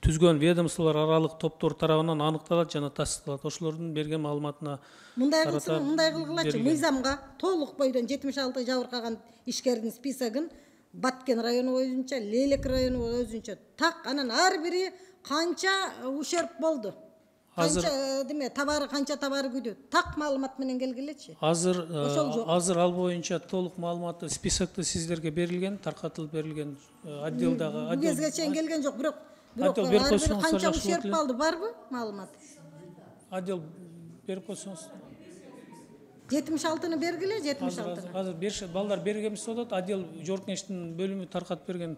түзгөн ведомстволор аралык топтор тарабынан аныкталат жана тастыкталат. Ошолордун берген маалыматына
мындай кылгылачы, мыйзамга толук бойдон 76 жабыркаган ишкердин списогун Баткен району боюнча, Лейлек району өзүнчө так, анан ар бири канча ущерб болду. канча деме товары канча товары күйдү так маалымат менен келгилечи.
Азыр ал боюнча толук маалыматтуу списокто сиздерге берилген, таркатылып берилген отделдагы
бул кезге чейин келген жок, бирок ар бир канча ущерб алды барбы маалымат?
Отдел берип койсоңуз.
76-ны бергиле, 76.
Азыр беришет, балдар бергенбиз болот, отдел жогорку кеңештин бөлүмү таркатып берген.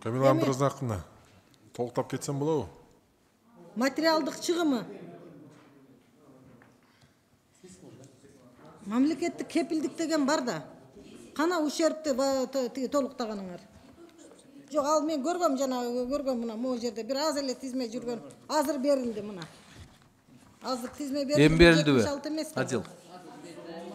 Камила Абдыразаковна, толуктап кетсем болобу?
Материалдык чыгымы. Мамлекеттик кепилдик деген бар да. Кана ущербти толуктаганыңар? Жок, ал мен көргөм, жана көргөм мына могу жерде бир аз эле тизме жүргөн. Азыр берилди мына. Азыр тизме берилди.
Эми берилдиби? Адил.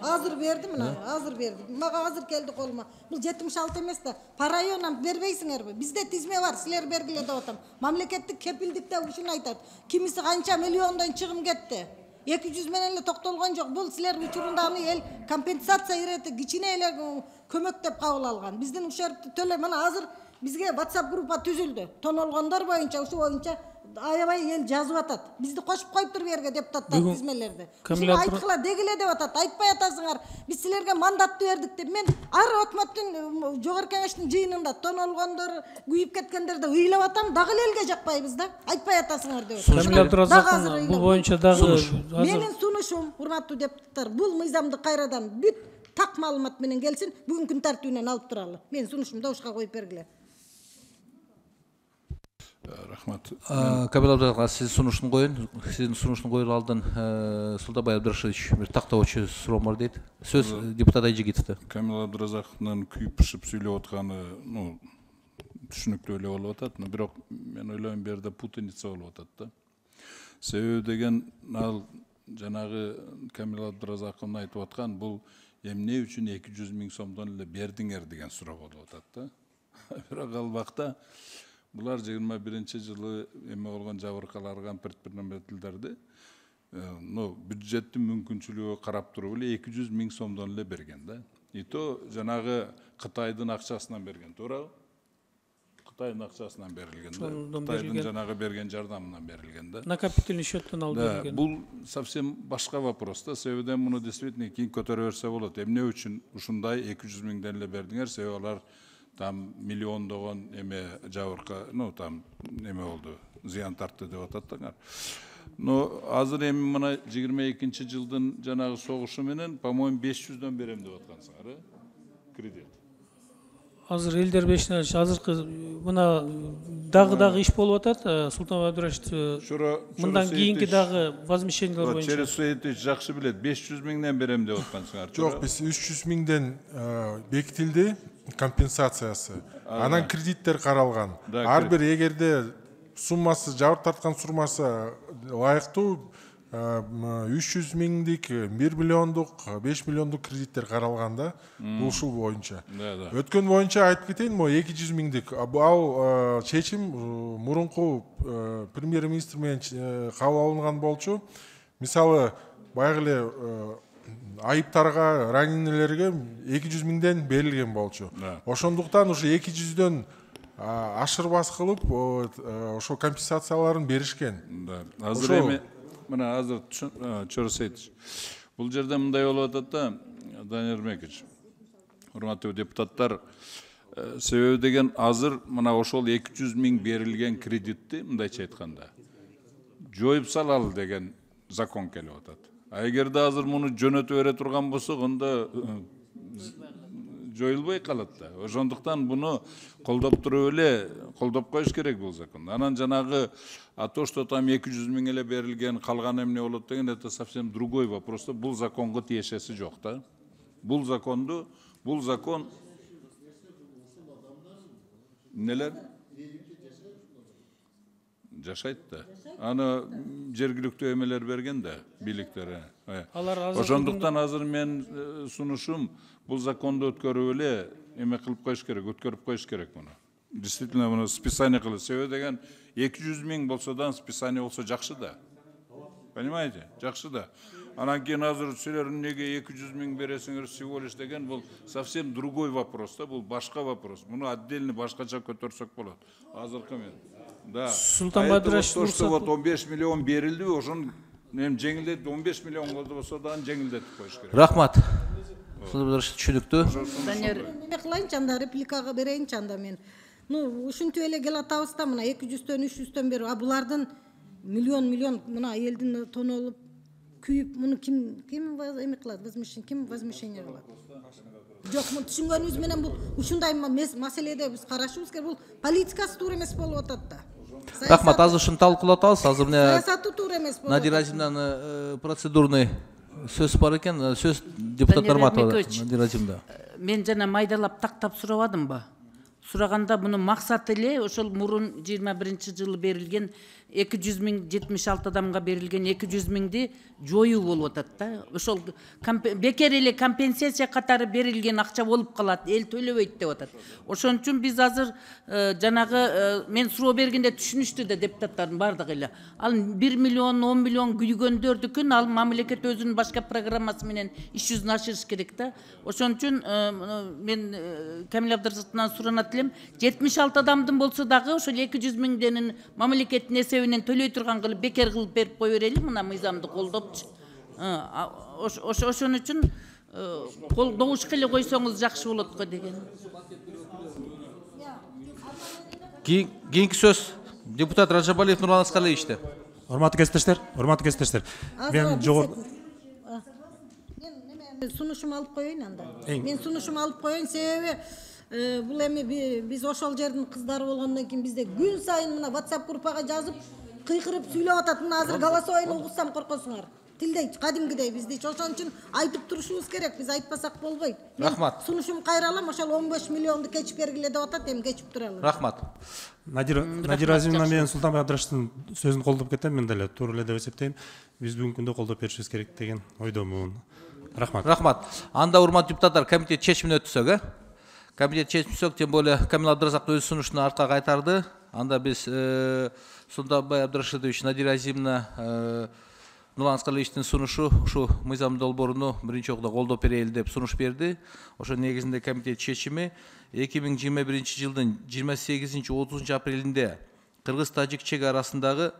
Азыр берди мына, азыр берди. Мага азыр келди колума. Бул 76 эмес да. По районам бербейсиңерби? Бизде тизме бар, силер бергиле деп атам. Мамлекеттик кепилдикте ушуну айтат. Кимиси канча миллиондон чыгым кетти. 200 менен эле токтолгон жок. Бул силер учурунда аны эл компенсация ирети кичине эле көмөк деп кабыл алган. Биздин ушербти төлөй. Мына азыр бизге WhatsApp группа түзүлдү. Тонолгондор боюнча, ушу боюнча аябай эл жазып атат. Бизди кошуп коюптур бу жерге депутаттар тизмелерди. Ушуну айткыла дегиле деп атат. Айтпай атасыңар. Биз силерге мандатты бердик деп. Мен ар өкмөттүн жогорку кеңештин жыйынында тонолгондор, күйүп кеткендерди ыйлап атам, дагы элге жакпайбыз да. Айтпай атасыңар деп.
Камила Абдыразаковна, бул боюнча дагы
менин сунушум, урматтуу депутаттар, бул мыйзамды кайрадан бүт так маалымат менен келсин, бүгүн күн тартибинен алып туралы. Менин сунушумду ушка коюп бергиле.
Рахмат.
Камила Абдыразаковна, сиздин сунуштун коюн. Сиздин сунуштун коюлу алдын Султанбай Абдрашевич бир тактоочу суроом бар дейт. Сөз депутат Айжигитовдо.
Камила Абдыразаковнун күйүп-пышып сүйлөп атканы, түшүнүктүү эле болуп атат, бирок мен ойлойм бу жерде путаница болуп атат да. Себеби деген ал жанагы Камила Абдыразаковна айтып аткан бул эмне үчүн 200 000 сомдон эле бердиңер деген суроо болуп атат да. Бирок ал убакта булар 21-жылы эме болгон жабыркаларга предпринимательдерди бюджеттин мүмкүнчүлүгү карап туруп эле 200 000 сомдон эле берген да. И то жанагы Кытайдын акчасынан берген, туурабы? Кытайдын акчасынан берилген да. Кытайдын жанагы берген жардамынан берилген да.
Накопительный счеттен алып берилген.
Бул совсем башка вопрос да. Себебиден муну действительно кийин көтөрө берсе болот. Эмне үчүн ушундай 200 000ден эле бердиңер? Себеби алар там миллиондогон эме жабырка, там эме болду, зыян тартты деп ататтыңар. Азыр эми мына 22-жылдын жанагы согушу менен, по-моему, 500дөн берем деп аткансыңар, кредит.
Азыр элдер бешинен азыркы мына дагы иш болуп атат. Султанбай Абдрашевич, мындан кийинки дагы возмещениялар боюнча.
Через Суетович жакшы билет, 500 000ден берем деп аткансыңар.
Жок, биз 300 000ден бекитилди компенсациясы. Анан кредиттер каралган. Ар бир эгерде суммасы, жабыр тарткан суммасы ылайыктуу 300 000дик, 1 миллиондук, 5 миллиондук кредиттер каралган да, бул ушул боюнча. Өткөн боюнча айтып кетейин, 200 000дик. Ал чечим мурунку премьер-министр менен кабыл алынган болчу. Мисалы, баягы эле айыптарга, раненелерге 200 000ден берилген болчу. Ошондуктан ушу 200дөн ашырбас кылып, ошо компенсацияларын беришкен.
Азыр эми мына азыр Чорсетович, бул жерде мындай болуп атат да, Данияр Эрмекович, урматтуу депутаттар, себеби деген азыр мына ошол 200 000 берилген кредитти мындайча айтканда жоюп салалы деген закон келип атат. Эгерде азыр муну жөнөтө бере турган болсок, анда жоюлбой калат да. Ошондуктан буну колдоп туруп эле колдоп коюш керек бул закон. Анан жанагы то, что там 200 000 эле берилген, калган эмне болот деген, это совсем другой вопрос. Бул законго тиешеси жок да. Бул закон нелер жашайт да. Аны жергиликтүү эмелер берген да, бийликтер. Ошондуктан азыр мен сунушум бул законду өткөрүп эле эме кылып коюш керек, өткөрүп коюш керек муну. Действительно муну списание кылып, себеби деген 200 000 болсо да списание болсо жакшы да. Понимаете? Жакшы да. Анан кийин азыр силер неге 200 000 бересиңер всего лишь деген бул совсем другой вопрос да, бул башка вопрос. Муну отдельно башкача көтөрсөк болот. Азыркы мен. Да.
Султанбай Абдрашев,
то, что вот 15 миллион берилди, ошон жеңилдет 15 миллион болсо дагы жеңилдетип коюш керек.
Рахмат. Түшүнүктүү.
Данияр
эме кылайынчы анда, репликага берейинчи анда мен. Ушинтип эле келатабыз да, мына 200-төн 300-төн бери, булардын миллион мына элдин тонолуп күйүп, муну ким эме кылат, возмещение кылат? Жок, түшүнгөнүбүз менен бул ушундай маселеде биз карашыбыз керек. Бул политикасы туура эмес болуп атат да.
Рахмат, азыр ушуну талкуулап атабыз. Азыр
саясаты туура эмес болуп
Надира Азимовна процедурный сөз бар экен, сөз депутаттар матабы. Надира Азимовна.
мен жана майдалап тактап сурабадымбы? Сураганда мунун максаты эле ошол мурун 21-жылы берилген 200 000 76 адамга берилген 200 000-ди жоюу болуп атат да. Ошол бекер эле компенсация катары берилген акча болуп калат, эл төлөбөйт деп атат. Ошон үчүн биз азыр жанагы мен суроо бергенде түшүнүштү да депутаттардын бардыгы эле. Ал 1 миллион 10 миллион күйгөндөрдүкүн ал мамлекет өзүнүн башка программасы менен иш жүзүнө ашырыш керек да. Ошон үчүн мен Камил Абдрасаковтан суранат элем, 76 адамдын болсо дагы ошол 200 000 мамлекеттин эсебинен төлөй турган кылып бекер кылып берип кое берели, мына мыйзамды колдопчу. Ошон үчүн колдобушка эле койсоңуз жакшы болот го деген.
Кийинки сөз депутат Ражабалиев Нурлан Аскалиевичте.
Урматтуу кесиптештер, мен жогорку
сунушум алып коеюн анда. Мен сунушум алып коеюн, себеби бул эми биз ошол жердин кыздары болгондон кийин бизде күн сайын мына WhatsApp группага жазып, кыйкырып сүйлөп атат. Мына азыр голосовойну угусам коркосуңар. Тилдей кадимгидей бизди ошон үчүн айтып турушубуз керек. Биз айтпасак болбойт.
Рахмат.
Сунушум кайралам, ошол 15 миллионду кечип бергиле деп атат, эми кечип туралы.
Рахмат.
Надира Азимовна менен Султанбай Абдрашевдин сөзүн колдоп кетем, мен деле туура эле деп эсептейм. Биз бүгүнкү күндө колдоп беришибиз керек деген ойдомун. Рахмат.
Рахмат. Анда урматтуу депутаттар, комитет чечимине өтсөк, комитет чечимсөк, тем более Камил Абдрасаков өз сунушун артка кайтарды. Анда биз Султанбай Абдрашевич, Надира Азимовна, Нурлан Аскалиевичтин сунушу ушу мыйзам долбооруну биринчи окууда колдоп берели деп сунуш берди. Ошол негизинде комитет чечими 2021-жылдын 28-30 апрелинде Кыргыз-Тажик чек арасындагы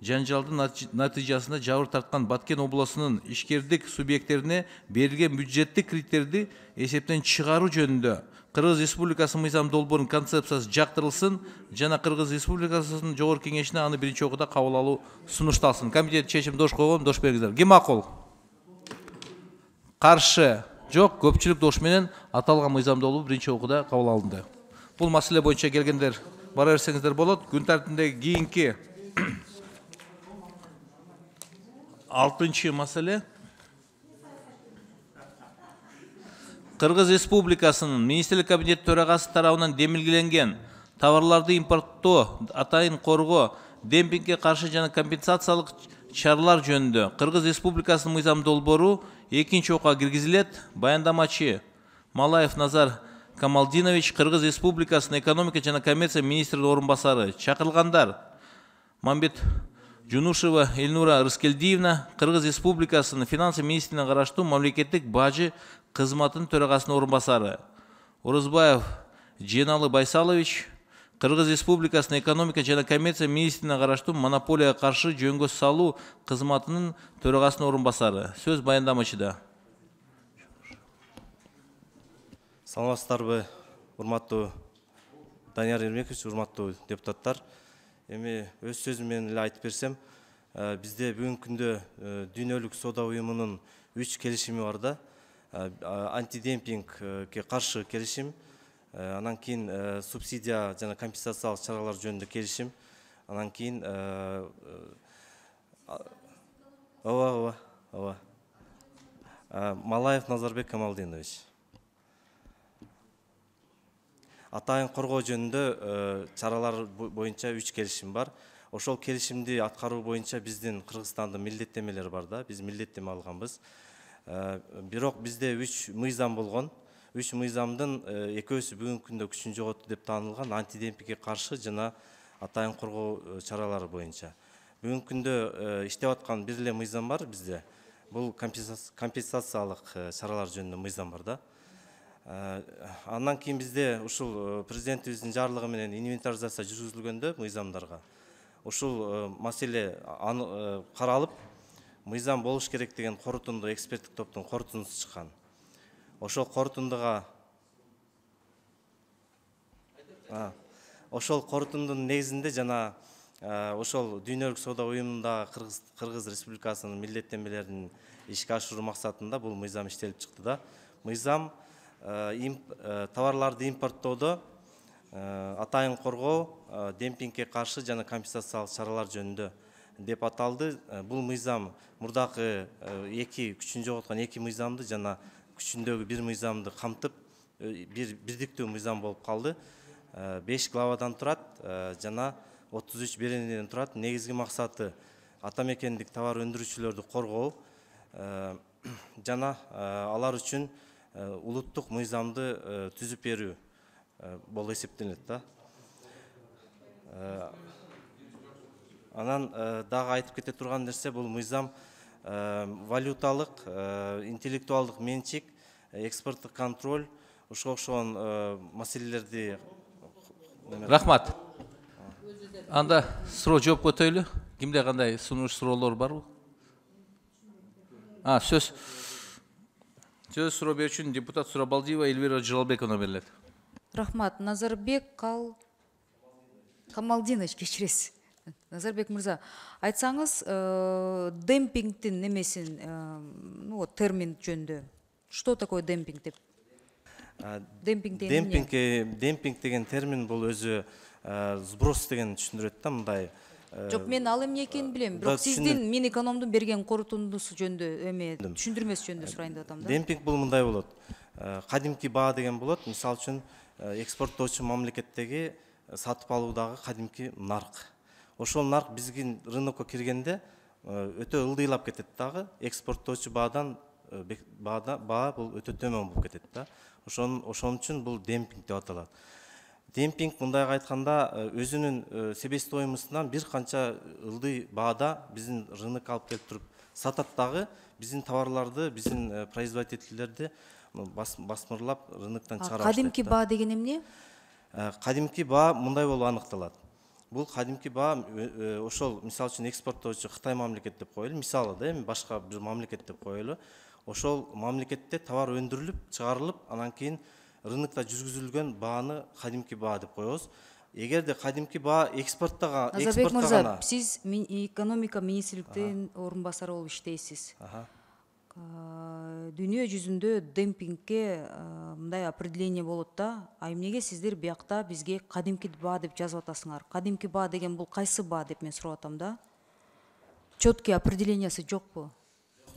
жанжалдын натыйжасында жабыр тарткан Баткен облусунун ишкердик субъекттерине берилген бюджеттик кредиттерди эсептен чыгаруу жөнүндө Кыргыз Республикасы мыйзам долбоорунун концепциясы жактырылсын жана Кыргыз Республикасынын жогорку кеңешине аны биринчи окууда кабыл алуу сунушталсын. Комитет чечим дош койгон, дош бериңиздер. Ким макул? Каршы? Жок, көпчүлүк дош менен аталган мыйзам долбоор биринчи окууда кабыл алынды. Бул маселе боюнча келгендер бара берсеңиздер болот. Күн тартибиндеги кийинки 6-чы маселе Кыргыз Республикасынын Министрлик кабинети төрагасы тарабынан демилгеленген товарларды импорттоо, атайын коргоо, демпингге каршы жана компенсациялык чаралар жөнүндө Кыргыз Республикасынын мыйзам долбоору 2-чи окуга киргизилет. Баяндамачы Малаев Назар Камалдинович, Кыргыз Республикасынын экономика жана коммерция министринин орун басары. Чакырылгандар: Мамбет Жунушева Эльнура Рыскелдиевна, Кыргыз Республикасынын финансы министрине караштуу мамлекеттик бажы кызматынын төрагасынын орун басары. Орозбаев Женалы Байсалович, Кыргыз Республикасынын экономика жана коммерция министрине караштуу монополияга каршы жөнгө салуу кызматынын төрагасынын орун басары. Сөз баяндамачыда.
Саламатсыздарбы, урматтуу Данияр Эрмекович, урматтуу депутаттар. Эми өз сөзүм менен эле айтып берсем, бизде бүгүнкү күндө дүйнөлүк соода уюмунун 3 келишими бар да. Антидемпингге каршы келишим, анан кийин субсидия жана компенсациялык чаралар жөнүндө келишим, анан кийин Малаев Назарбек Камалдинович. Атайын коргоо жөнүндө чаралар боюнча 3 келишим бар. Ошол келишимди аткаруу боюнча биздин Кыргызстандын милдеттемелери бар да. Биз милдеттеме алганбыз. Бирок бизде 3 мыйзам болгон. 3 мыйзамдын экөөсү бүгүнкү күндө күчүн жоготту деп таанылган антидемпингге каршы жана атайын коргоо чаралары боюнча. Бүгүнкү күндө иштеп аткан бир эле мыйзам бар бизде. бул компенсациялык чаралар жөнүндө мыйзам бар да. Андан кийин бизде ушул президентибиздин жарлыгы менен инвентаризация жүргүзүлгөндө мыйзамдарга ушул маселе каралып, мыйзам болуш керек деген корутунду эксперттик топтун корутундусу чыккан. Ошол корутундуга ошол корутундун негизинде жана ошол Дүйнөлүк соода уюмунда Кыргыз Республикасынын милдеттенмелерин ишке ашыруу максатында бул мыйзам иштелип чыкты да. Мыйзам товарларды импорттоодо атайын коргоо, демпингке каршы жана компенсациялык чаралар жөнүндө деп аталды. Бул мыйзам мурдакы күчүн жоготкон 2 мыйзамды жана күчүндөгү 1 мыйзамды камтып, бирдиктүү мыйзам болуп калды. 5 главадан турат жана 33 беренеден турат. Негизги максаты атамекендик товар өндүрүүчүлөрдү коргоо жана алар үчүн улуттук мыйзамды түзүп берүү болуп эсептелет да. Анан дагы айтып кете турган нерсе, бул мыйзам валюталык, интеллектуалдык менчик, экспорттук контроль, ушуга окшогон маселелерди.
Рахмат. Анда суроо жооп өтөйлү. Кимде кандай сунуш суроолор барбы? Сөз суроо берүү үчүн депутат Сурабалдиева Эльвира Жалалбековна берилет.
Рахмат. Назарбек Камалдинович, кечиресиз. Назарбек мырза, айтсаңыз, демпингтин немесин, термин жөнүндө. Что такое демпинг деп?
Демпинг деген термин бул өзү сброс деген түшүндүрөт да, мындай.
Жок, мен ал эмне экенин билем, бирок сиздин Минэкономдун берген корутундусу жөнүндө, түшүндүрмөсү жөнүндө сурайын деп атам да.
Демпинг бул мындай болот. Кадимки баа деген болот. Мисалы үчүн экспорттоочу мамлекеттеги сатып алуудагы кадимки нарк. Ошол нарк биздин рынокко киргенде өтө ылдыйлап кетет дагы. Экспорттоочу баадан баа бул өтө төмөн болуп кетет да. Ошон үчүн бул демпинг деп аталат. Демпинг, мындайга айтканда, өзүнүн себестоимостунан бир канча ылдый баада биздин рынокко алып келип туруп сатат дагы, биздин товарларды, биздин производительдерди басмырлап рыноктон чыгара баштайт.
Кадимки баа деген эмне?
Кадимки баа мындай болуп аныкталат. Бул кадимки баа ошол, мисалы үчүн экспорттоочу Кытай мамлекет деп коелу, мисалы да, эми башка бир мамлекет деп коелу. Ошол мамлекетте товар өндүрүлүп, чыгарылып, анан кийин рынокто жүргүзүлгөн бааны кадимки баа деп коебуз. Эгерде кадимки баа экспорттага
Назарбек мырза, сиз экономика министрликтин орун басары болуп иштейсиз. Дүйнө жүзүндө демпингке мындай определение болот да. Эмнеге сиздер биякта бизге кадимки баа деп жазып атасыңар? Кадимки баа деген бул кайсы баа деп мен сурап атам да. Четкий определениясы жокпу?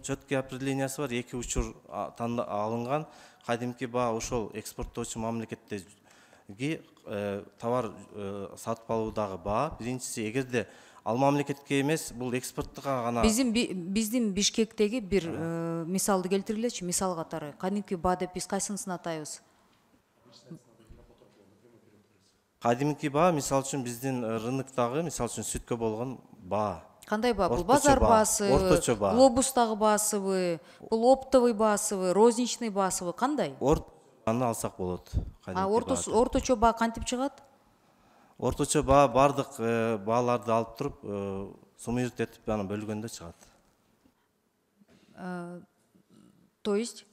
Четкий определениясы бар, 2 учур алынган. Кадимки баа ошол экспорттоочу мамлекеттеги товар сатып алуудагы баа. Биринчиси, эгерде ал мамлекетке эмес, бул экспорттуга гана.
Биздин Бишкектеги бир мисалды келтиргилечи, мисал катары. Кадимки баа деп биз кайсынысын атайбыз?
Кадимки баа, мисалы үчүн биздин рыноктогу, мисалы үчүн сүткө болгон баа.
Кандай баа? Бул базар баасы, глобустагы баасыбы, бул оптовый баасыбы, розничный баасыбы, кандай?
Аны алсак болот.
Орточо баа кантип чыгат?
Орточо баа бардык бааларды алып туруп, суммируют этип аны бөлгөндө чыгат.
То есть?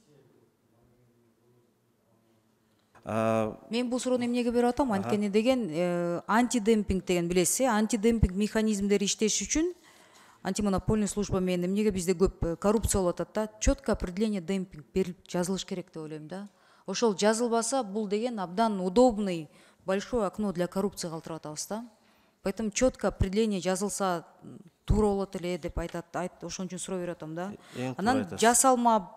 Мен бул суроону эмнеге берип атам? Анткени деген антидемпинг деген билесиз, антидемпинг механизмдери иштеш үчүн антимонопольный служба менен эмнеге бизде көп коррупция болуп атат да, четкое определение демпинг берилип жазылыш керек деп ойлойм да. Ошол жазылбаса, бул деген абдан удобный большое окно для коррупции калтырып атабыз да. Поэтому четкое определение жазылса туура болот эле деп айтат. Ошон үчүн суроо берип атам да. Анан жасалма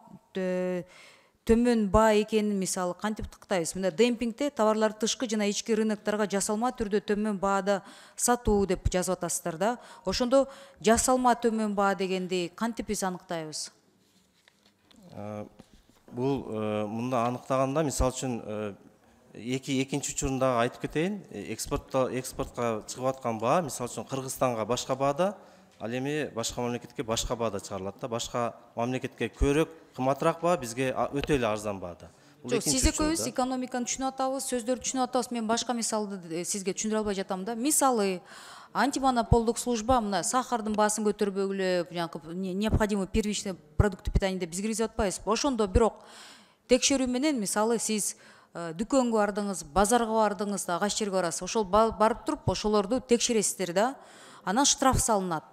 төмөн баа экенин мисалы кантип тактайбыз? Мына демпингде товарларды тышкы жана ички рынокторго жасалма түрдө төмөн баада сатуу деп жазып атасыздар да. Ошондо жасалма төмөн баа дегенди кантип биз аныктайбыз?
Бул мында аныктаганда, мисалы үчүн экинчи учурундагы айтып кетейин. Экспортко чыгып аткан баа, мисалы үчүн Кыргызстанга башка баада, Ал эми башка мамлекетке башка баада чыгарылат да. Башка мамлекетке көрөк кымбатыраак баа, бизге өтө эле арзан баада.
Жок, сиз экөөбүз экономиканы түшүнүп атабыз, сөздөрдү түшүнүп атабыз. Мен башка мисалды сизге түшүндүрө албай жатам да. Мисалы, антимонополдук служба мына сахардын баасын көтөрбөгүлө, необходимый первичный продукты питания деп биз киргизип атпайбызбы? Ошондо бирок текшерүү менен мисалы сиз дүкөнгө бардыңыз, базарга бардыңыз, ага жерге барасыз. Ошол барып туруп ошолорду текшересиздер да. Анан штраф салынат.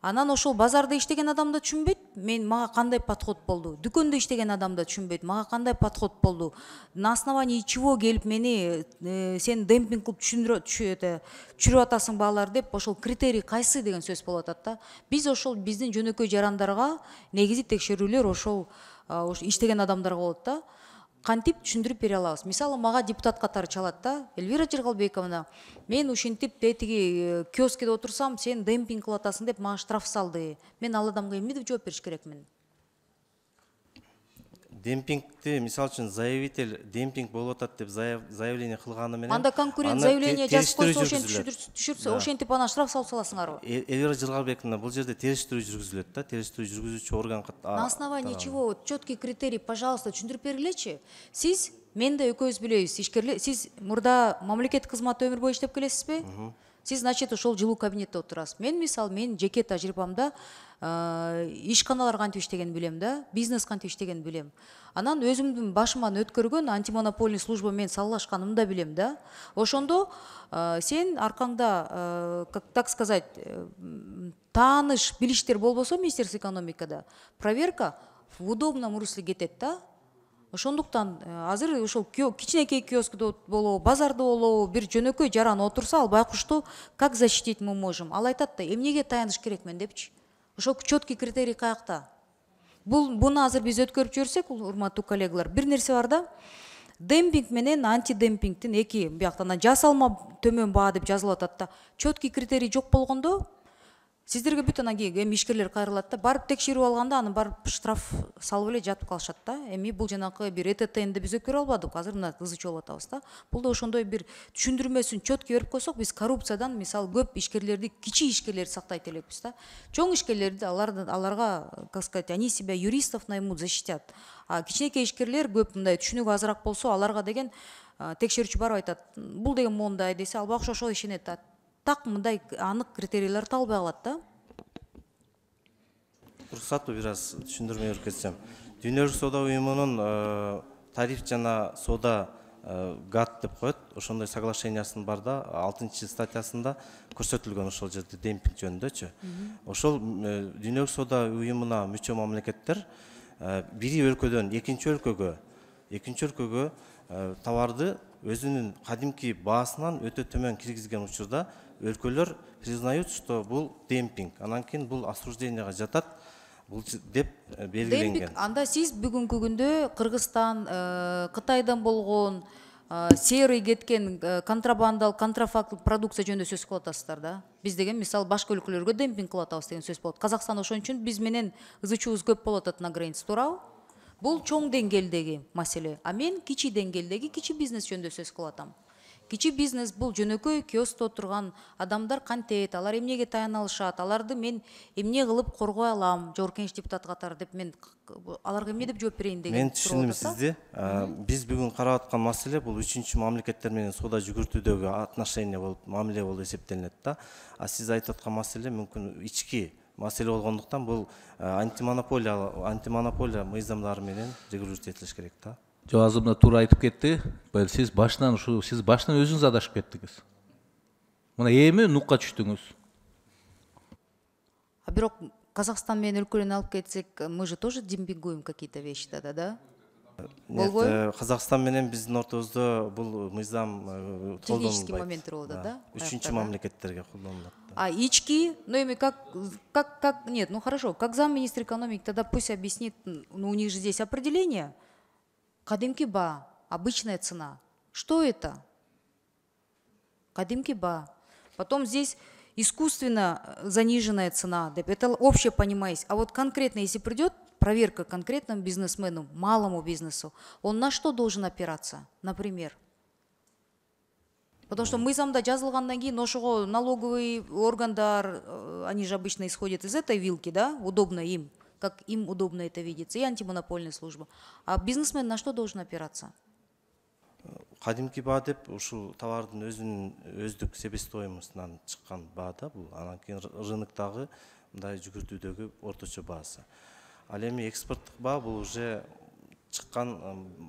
Анан ошол базарда иштеген адам да түшүнбөйт, мага кандай подход болду. Дүкөндө иштеген адам да түшүнбөйт, мага кандай подход болду. На основании чего келип мени сен демпинг кылып түшүрүп атасың баалар деп ошол критерий кайсы деген сөз болуп атат да. Биз ошол биздин жөнөкөй жарандарга негизи текшерүүлөр ошол иштеген адамдарга болот да. Кантип түшүндүрүп бере алабыз. Мисалы мага депутат катары чалат да. Эльвира Жыргалбековна, мен ушинтип тетиги киоскеде отурсам, сен демпинг кылып атасың деп мага штраф салды. Мен ал адамга эмне деп жооп бериш керекмин?
Демпингти мисалы үчүн заявитель демпинг болуп атат деп заявление кылганы менен
анда конкурент заявление жазып койсо ошентип түшүрсө ошентип анан штраф салып саласыңарбы?
Эльвира Жыргалбековна, бул жерде териштирүү жүргүзүлөт да, териштирүү жүргүзүүчү орган.
На основании чего? Четкий критерий, пожалуйста, түшүндүрүп бергилечи. Сиз, мен да экөөбүз билебиз, ишкерлер, сиз мурда мамлекеттик кызматта өмүр бою иштеп келесизби? Сиз, значит, ошол жылуу кабинетте отурасыз. Мен мисалы, мен жеке тажрыйбамда ишканалар кантип иштегенин билем да, бизнес кантип иштегенин билем. Анан өзүмдүн башыман өткөргөн антимонопольный служба менен саллашканымды да билем да. Ошондо сен аркаңда, так сказать, тааныш, билиштер болбосо Министерство экономикада, проверка в удобном русле кетет да. Ошондуктан азыр ошол кичинекей киоскада болобу, базарда болобу, бир жөнөкөй жаран отурса, ал байкушту как защитить мы можем? Ал айтат да, эмнеге таяныш керекмен депчи. Ошол четкий критерий каякта? Буну азыр биз өткөрүп жиберсек, урматтуу коллегалар, бир нерсе бар да. Демпинг менен антидемпингтин эки бияктан жасалма төмөн баа деп жазылып атат да. Четкий критерий жок болгондо сиздерге бүт анан кийин эми ишкерлер кайрылат да, барып текшерип алганда аны барып штраф салып эле жатып калышат да. Эми бул жанакы бир ЭТТНди биз өткөрө албадык, азыр мына ызы чогулуп атабыз да. Бул да ошондой бир түшүндүрмөсүн четкий берип койсок, биз коррупциядан мисалы көп ишкерлерди, кичи ишкерлерди сактайт элекпиз да. Чоң ишкерлерди аларга, как сказать, они себя юристов наймут, защитят. А кичинекей ишкерлер көп мындай түшүнүгү азыраак болсо, аларга деген текшерүүчү барып айтат, бул деген мондай десе, ал байкуш ошол ишенет да. Так мындай анык критерийлер табылбай калат да.
Уруксатпы бир аз түшүндүрмө берип кетсем. Дүйнөлүк соода уюмунун тариф жана соода ГАТ деп коет. Ошондой соглашениясын бар да, 6-статьясында көрсөтүлгөн ошол жерде демпинг жөнүндөчү. Ошол дүйнөлүк соода уюмуна мүчө мамлекеттер бири өлкөдөн экинчи өлкөгө товарды өзүнүн кадимки баасынан өтө төмөн киргизген учурда өлкөлөр признают, что бул демпинг, анан кийин бул осужденияга жатат деп белгиленген.
Демпинг, анда сиз бүгүнкү күндө Кыргызстан, Кытайдан болгон серый кеткен контрабандалык, контрафактылык продукция жөнүндө сөз кылып атасыздар да. Биз деген мисалы башка өлкөлөргө демпинг кылып атабыз деген сөз болот. Казакстан ошон үчүн биз менен ызы чуубуз көп болуп атат на границе, туурабы? Бул чоң деңгээлдеги маселе. А мен кичи деңгээлдеги кичи бизнес жөнүндө сөз кылып атам. Кичи бизнес бул жөнөкөй киоскто отурган адамдар кантет, алар эмнеге таяна алышат, аларды мен эмне кылып коргой алам, Жогорку Кеңеш депутаты катары деп мен аларга эмне деп жооп берейин деген.
Мен түшүндүм сизди. Биз бүгүн карап аткан маселе бул үчүнчү мамлекеттер менен соода жүгүртүүдөгү отношения болуп, мамиле болуп эсептелинет да. А сиз айтып аткан маселе мүмкүн ички маселе болгондуктан бул антимонополия мыйзамдары менен регулировать этилиш керек да.
Жок, азыр мына туура айтып кетти. Сиз башынан өзүңүз адашып кеттиңиз. Мына эми нукка түштүңүз.
А бирок Казакстан менен өлкөлөрүн алып кетсек, мы же тоже демпингуем какие-то вещи тогда, да?
Нет, Казакстан менен биздин ортобузда бул мыйзам колдонулбайт.
Технический моменттер болду, да?
Үчүнчү мамлекеттерге колдонулат.
А ички, ну эми нет, ну хорошо, как замминистра экономики, тогда пусть объяснит, ну у них же здесь определение. Кадимки ба, обычная цена. Что это? Кадимки ба. Потом здесь искусственно заниженная цена. Это общее понимание. А вот конкретно, если придет проверка конкретному бизнесмену, малому бизнесу, он на что должен опираться, например? Потому что мыйзамда жазылгандан кийин ошого налоговый органдар, они же обычно исходят из этой вилки, да, удобно им, как им удобно это видится, и антимонопольная служба. А бизнесмен на что должен опираться?
Кадимки баа деп ушул товардын өздүк себестоимостунан чыккан баа да бул. Анан кийин рыноктогу мындай жүгүртүүдөгү орточо баасы. Ал эми экспорттук баа бул уже чыккан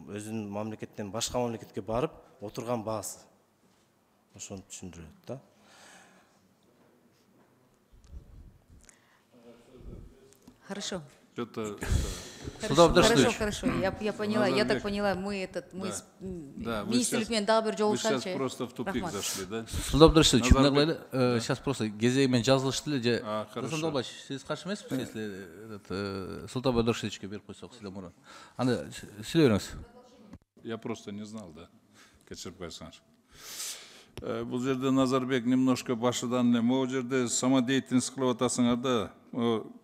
өзүнүн мамлекеттен башка мамлекетке барып отурган баасы. Ошону түшүндүрөт да.
Хорошо.
Что-то...
Хорошо, я поняла, я так поняла, мы министрлик менен дагы бир жолугушканчы.
Вы сейчас просто в тупик зашли, да?
Султан Абдрашидович, сейчас просто кезегимен жазылышты эле же. Султан Долбаевич, сиз каршы эмесписиз, если Султан Абдрашидовичке берип койсок сизден мурун? Аны сиз бериңиз.
Я просто не знал, да, кечирип койсоңуз. Бул жерде Назарбек немножко башыдан эле могу жерде самодеятельность кылып атасыңар да,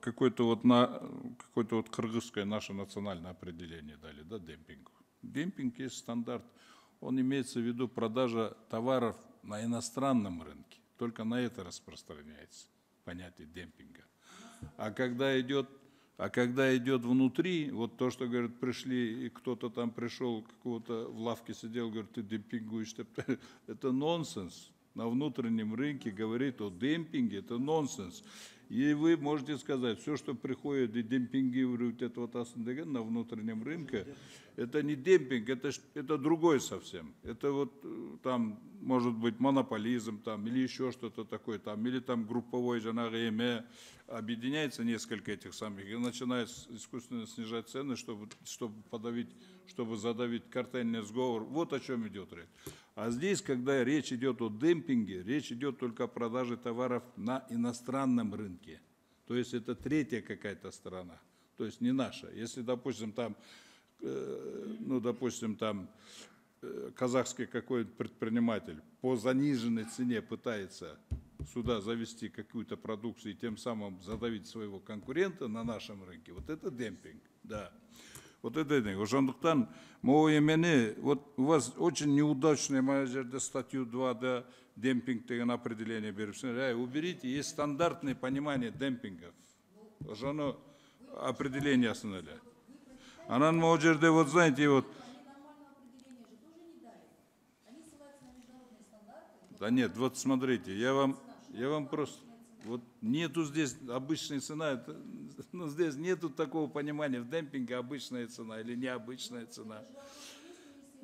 какой-то вот кыргызское наше национальное определение дали, да, демпингу. Демпинг есть стандарт, он имеется в виду продажа товаров на иностранном рынке, только на это распространяется понятие демпинга. А когда идет внутри, вот то, что, говорят, пришли, и кто-то там пришел, какого-то в лавке сидел, говорит, ты демпингуешь, это нонсенс. На внутреннем рынке говорит о демпинге, это нонсенс. И вы можете сказать, все, что приходит и демпингирует это вот на внутреннем рынке, это не демпинг, это другой совсем. Это вот там может быть монополизм там, или еще что-то такое, там, или там групповой жанагы объединяется несколько этих самых и начинает искусственно снижать цены, чтобы задавить картельный сговор. Вот о чем идет речь. А здесь, когда речь идет о демпинге, речь идет только о продаже товаров на иностранном рынке. То есть это третья какая-то сторона, то есть не наша. Если, допустим, там, казахский какой-то предприниматель по заниженной цене пытается сюда завести какую-то продукцию и тем самым задавить своего конкурента на нашем рынке, вот это демпинг, да. Вот это демпинг. Ошондуктан могу эмени, вот у вас очень неудачная моя жерде статью 2, да, демпинг деген определение берипсиңер. Уберите, есть стандартное понимание демпинга. Ошону определениясын эле. Анан могу жерде, вот знаете, вот. Да нет, вот смотрите, я вам просто, вот нету здесь обычной цены, ну, здесь нету такого понимания в демпинге обычная цена или необычная цена.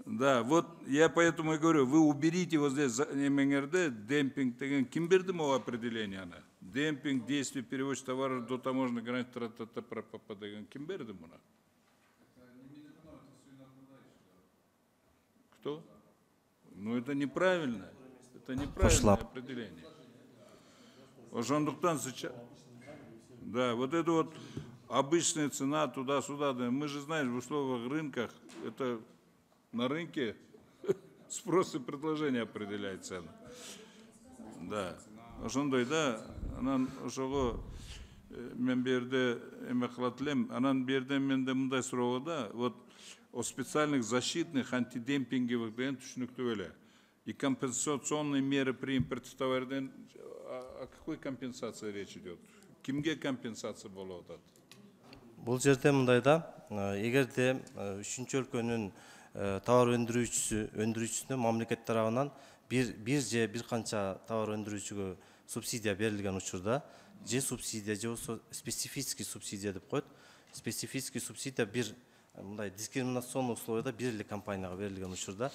Да, вот я поэтому и говорю, вы уберите вот здесь демпинг, ким берди могу определение она? Демпинг, действие перевозчик товаров до таможенной границы, ким берди муна? Кто? Ну это неправильно. Это неправильное определение. Ошондуктан сейчас. Да, вот это вот обычная цена туда-сюда. Да. Мы же знаем, в условиях рынках, это на рынке спрос и предложение определяет цену. Да. Ошондой, да, анан ошого мен берде эме кылат элем, анан берден менде мындай суроо да, вот о специальных защитных антидемпинговых деген түшүнүктүү эле. И компенсационные меры при импорте товардан, о какой компенсации речь идет? Кимге компенсация болуп атат?
Бул жерде мындай да, эгерде үчүнчү өлкөнүн товар өндүрүүчүсүнө мамлекет тарабынан бир же бир канча товар өндүрүүчүгө субсидия берилген учурда, же субсидия же болсо специфический субсидия деп коет. Специфический субсидия бир мындай дискриминационный условияда бир эле компанияга берилген учурда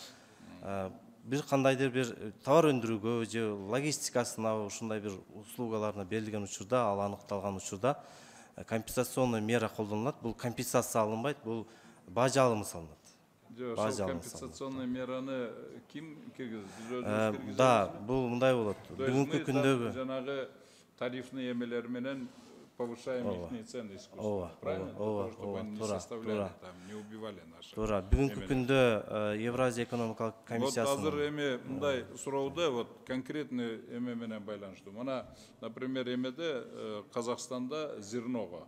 бир кандайдыр бир товар өндүрүүгө же логистикасына ушундай бир услугаларына берилген учурда, ал аныкталган учурда компенсационный мера колдонулат. Бул компенсация алынбайт, бул бажа алымы салынат.
Ошол компенсационный мераны ким киргизет?
Да, бул мындай болот. Бүгүнкү күндөгү
жанагы тарифный эмелер менен повышаем их цены искусственно. Правильно? Чтобы они не составляли, там, не убивали наши.
Туура. Бүгүнкү күндө Евразия экономикалык комиссиясы.
Вот азыр эме мындай суроодо вот конкретный эме менен байланыштуу. Мына, например, эмеде Казакстанда зерного.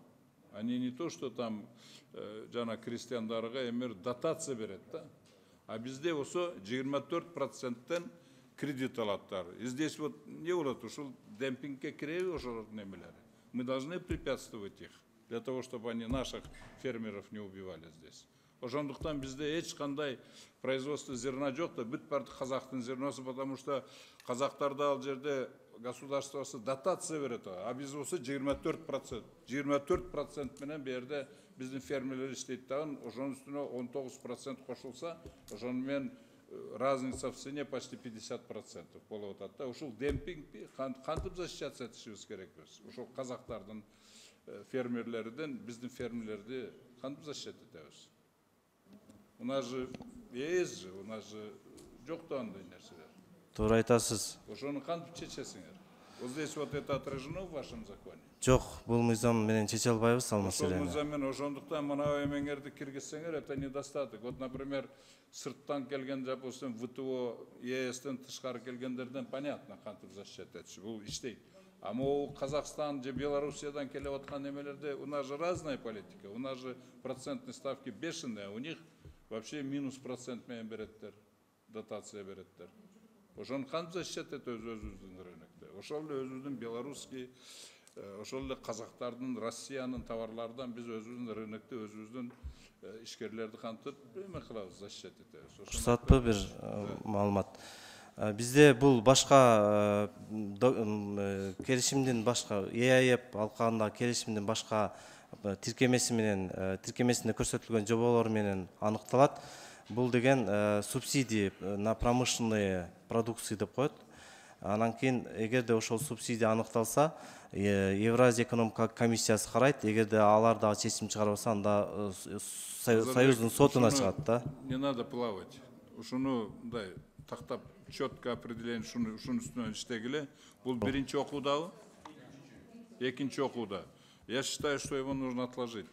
Они не то, что там жана крестьяндарга эмер дотация берет, да? А бизде болсо 24%-тен кредит алаттар. И здесь вот не болот, ушул демпингке киреби ошол немелер. Мы должны препятствовать их для того, чтобы они наших фермеров не убивали здесь. Ошондуктан бизде эч кандай производство зерна жок да, бүт баары казактын зерносы, потому что казактарда ал жерде государствосы дотация берет, а биз болсо 24%. 24% менен бу жерде биздин фермерлер иштейт дагы, ошонун үстүнө 19% кошулса, ошону менен разница в цене почти 50% болуп атат да. Ушул демпингди кантип защищаться этишибиз керек биз? Ошол казактардын фермерлерден биздин фермерлерди кантип защищать этебиз? У нас же ЕС же, у нас же жок да андай нерселер.
Туура айтасыз.
Ошону кантип чечесиңер? Вот здесь вот это отражено в вашем законе?
Жок, бул мыйзам менен чече албайбыз ал маселени.
Ошол мыйзам менен ошондуктан мына эмеңерди киргизсеңер, это недостаток. Вот, например, сырттан келген, допустим, ВТО, ЕСтен тышкары келгендерден понятно кантип защищать этиши. Бул иштейт. А могу Казахстан же Белоруссиядан келип аткан немелерде у нас же разная политика. У нас же процентные ставки бешеные, у них вообще минус процент менен береттер, дотация береттер. Ошону кантип защищать этет өзүбүздүн рынокто? Ошол эле өзүбүздүн белорусский, ошол эле казактардын, Россиянын товарлардан биз өзүбүздүн рынокто өзүбүздүн ишкерлерди кантип эме кылабыз, защищать этебиз.
Уруксатпы бир маалымат. Бизде бул башка келишимдин башка ЕАЭП алкагындагы келишимдин башка тиркемеси менен тиркемесинде көрсөтүлгөн жоболор менен аныкталат. Бул деген субсидии на промышленные продукции деп коет. Анан кийин эгерде ошол субсидия аныкталса, Евразия экономикалык комиссиясы карайт. Эгерде алар дагы чечим чыгарбаса, анда союздун сотуна чыгат да.
Не надо плавать. Ушуну мындай тактап четко определение ушунун үстүнөн иштегиле. Бул биринчи окуудабы? Экинчи окууда. Я считаю, что его нужно отложить,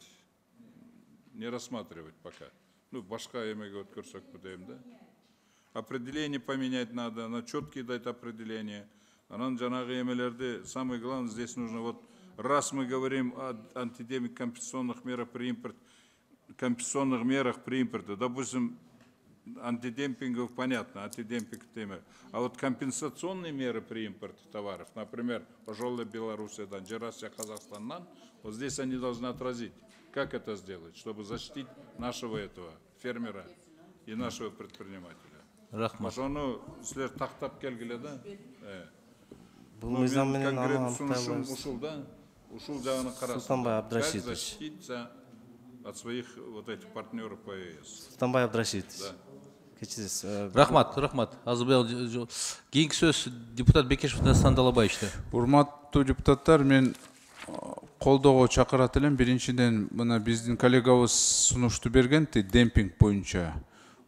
не рассматривать пока. Ну, башка эмеге өткөрсөк дейм да. Определение поменять надо, на четкие дать определение. Анан жанагы эмелерди, самое главное, здесь нужно вот, раз мы говорим о антидемик компенсационных мерах при импорте, допустим, антидемпингов понятно, антидемпинг тема. А вот компенсационные меры при импорте товаров, например, пожалуй, Белоруссиядан, Россия, Казахстаннан, вот здесь они должны отразить. Как это сделать, чтобы защитить нашего этого фермера и нашего предпринимателя?
Рахмат.
Ошону силер тактап келгиле да.
Бул мыйзам менен
конкрет ушул да. Ушул жагына карасың.
Султанбай Абдрашитович.
Как защититься от своих вот этих партнеров по ЕС?
Султанбай Абдрашитович.
Да.
Рахмат. Кийинки сөз депутат Бекешев Дастан Далабаевичте.
Урматтуу депутаттар, мен колдоого чакырат элем. Биринчиден, мына биздин коллегабыз сунушту берген демпинг боюнча.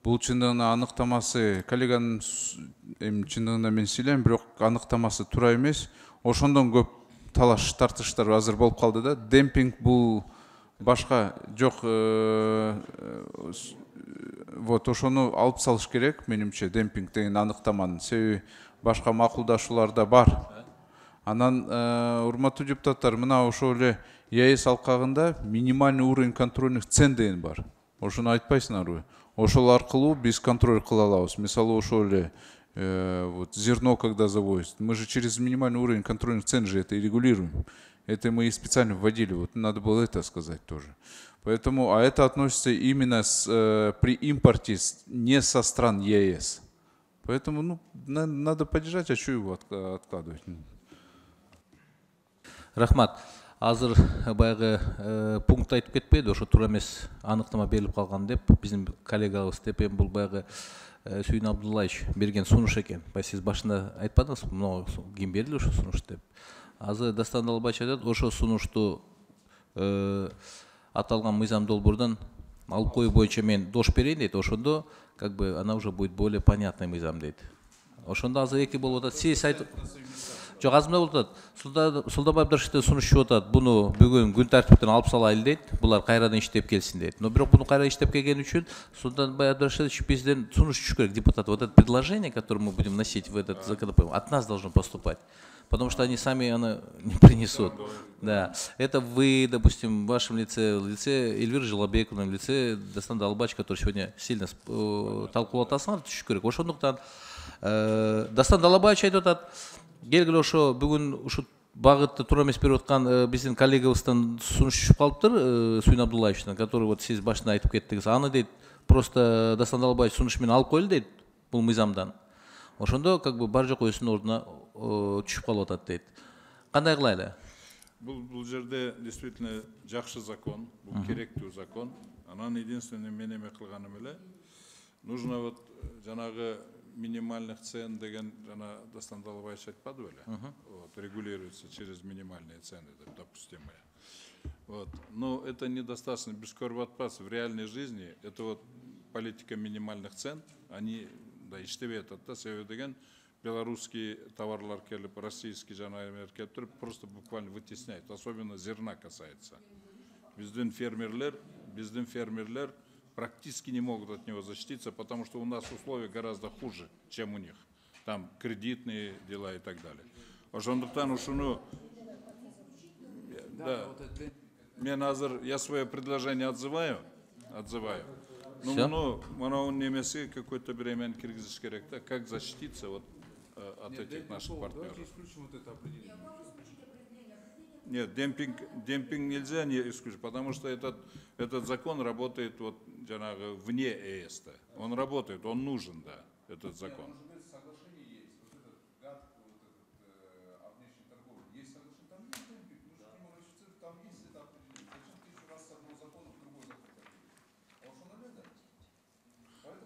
Бул чындыгында аныктамасы, коллеганын чындыгында мен сүйлөйм, бирок аныктамасы туура эмес. Ошондон көп талаш тартыштар азыр болуп калды да. Демпинг бул башка жок, вот ошону алып салыш керек, менимче, демпинг деген аныктаманын. Себеби башка макулдашууларда бар. Анан, урматтуу депутаттар, мына ошол эле ЕАЭС алкагында минимальный уровень контрольных цен деген бар. Ошону айтпайсыңарбы? Ошол аркылуу биз контроль кыла алабыз. Мисалы, ошол эле вот зерно когда завозят, мы же через минимальный уровень контрольных цен же это и регулируем. Это мы специально вводили, вот надо было это сказать тоже. Поэтому, а это относится именно при импорте не со стран ЕС. Поэтому, ну, надо поддержать, а что его откладывать?
Рахмат. Азыр баягы пункт айтып кетпейди, ошо туура эмес аныктама берилип калган деп, биздин коллегабыз деп, бул баягы Сүйүн Абдуллаевич берген сунуш экен. Сиз башында айтпадыңызбы, мына ким берилди ошо сунуш деп. Азыр Дастан Далбаевич айтат, ошо сунушту аталган мыйзам долбоордон алып коюу боюнча мен дош берейин дейт. Ошондо как бы она уже будет более понятный мыйзам дейт. Ошондо азыр эки болуп атат. Сиз айтып жок, азырда болуп атат. Султанбай Абдрашитов сунуш чыгып атат. Буну бүгүн күн тартиптен алып салайлы дейт. Булар кайрадан иштеп келсин дейт. Но бирок буну кайра иштеп келген үчүн Султанбай Абдрашитович бизден сунуш түшүш керек, депутат. Вот это предложение, которое мы будем вносить в этот законопроект, от нас должно поступать. Потому что они сами оно не принесут. Да. Это вы, допустим, в вашем лице, в лице Эльвиры Жылабековны, в лице Дастан Далбаевича, который сегодня сильно талкуулап атасыңар, түшүш керек. Ошондуктан Дастан Далабаевич айтып атат, келгиле ошо бүгүн ушу багытты туура эмес берип аткан биздин коллегабыздан сунуш түшүп калыптыр, Суин Абдуллаевичтен, который вот сиз башында айтып кеттиңиз. Аны дейт просто Дастан Далабаевич сунуш менен алып коелу дейт бул мыйзамдан. Ошондо как бы бар жок өзүнүн ордуна түшүп калып атат дейт. Кандай кылайлы?
Бул жерде действительно жакшы закон, бул керектүү закон. Анан единственное мен эме кылганым эле, нужно вот жанагы минимальных цен деген жана Дастан Далабаевич айтпады беле? Вот, регулируется через минимальные цены, допустимые. Вот. Но это недостаточно. Без көрүп атпас в реальной жизни. Это вот политика минимальных цен, они да иштебей атат да, себеби деген белорусский товарлар келип, российский жанагылар келип туруп просто буквально вытесняет, особенно зерна касается. Биздин фермерлер практически не могут от него защититься, потому что у нас условия гораздо хуже, чем у них. Там кредитные дела и так далее. Ошондуктан ушуну, да, мен азыр я свое предложение отзываю. Ну, муну немесе какое-то время киргизиш керек, да, как защититься вот от этих наших партнеров. Нет, демпинг нельзя не исключить, потому что этот закон работает вот вне ЕС. Он работает, он нужен, да, этот закон.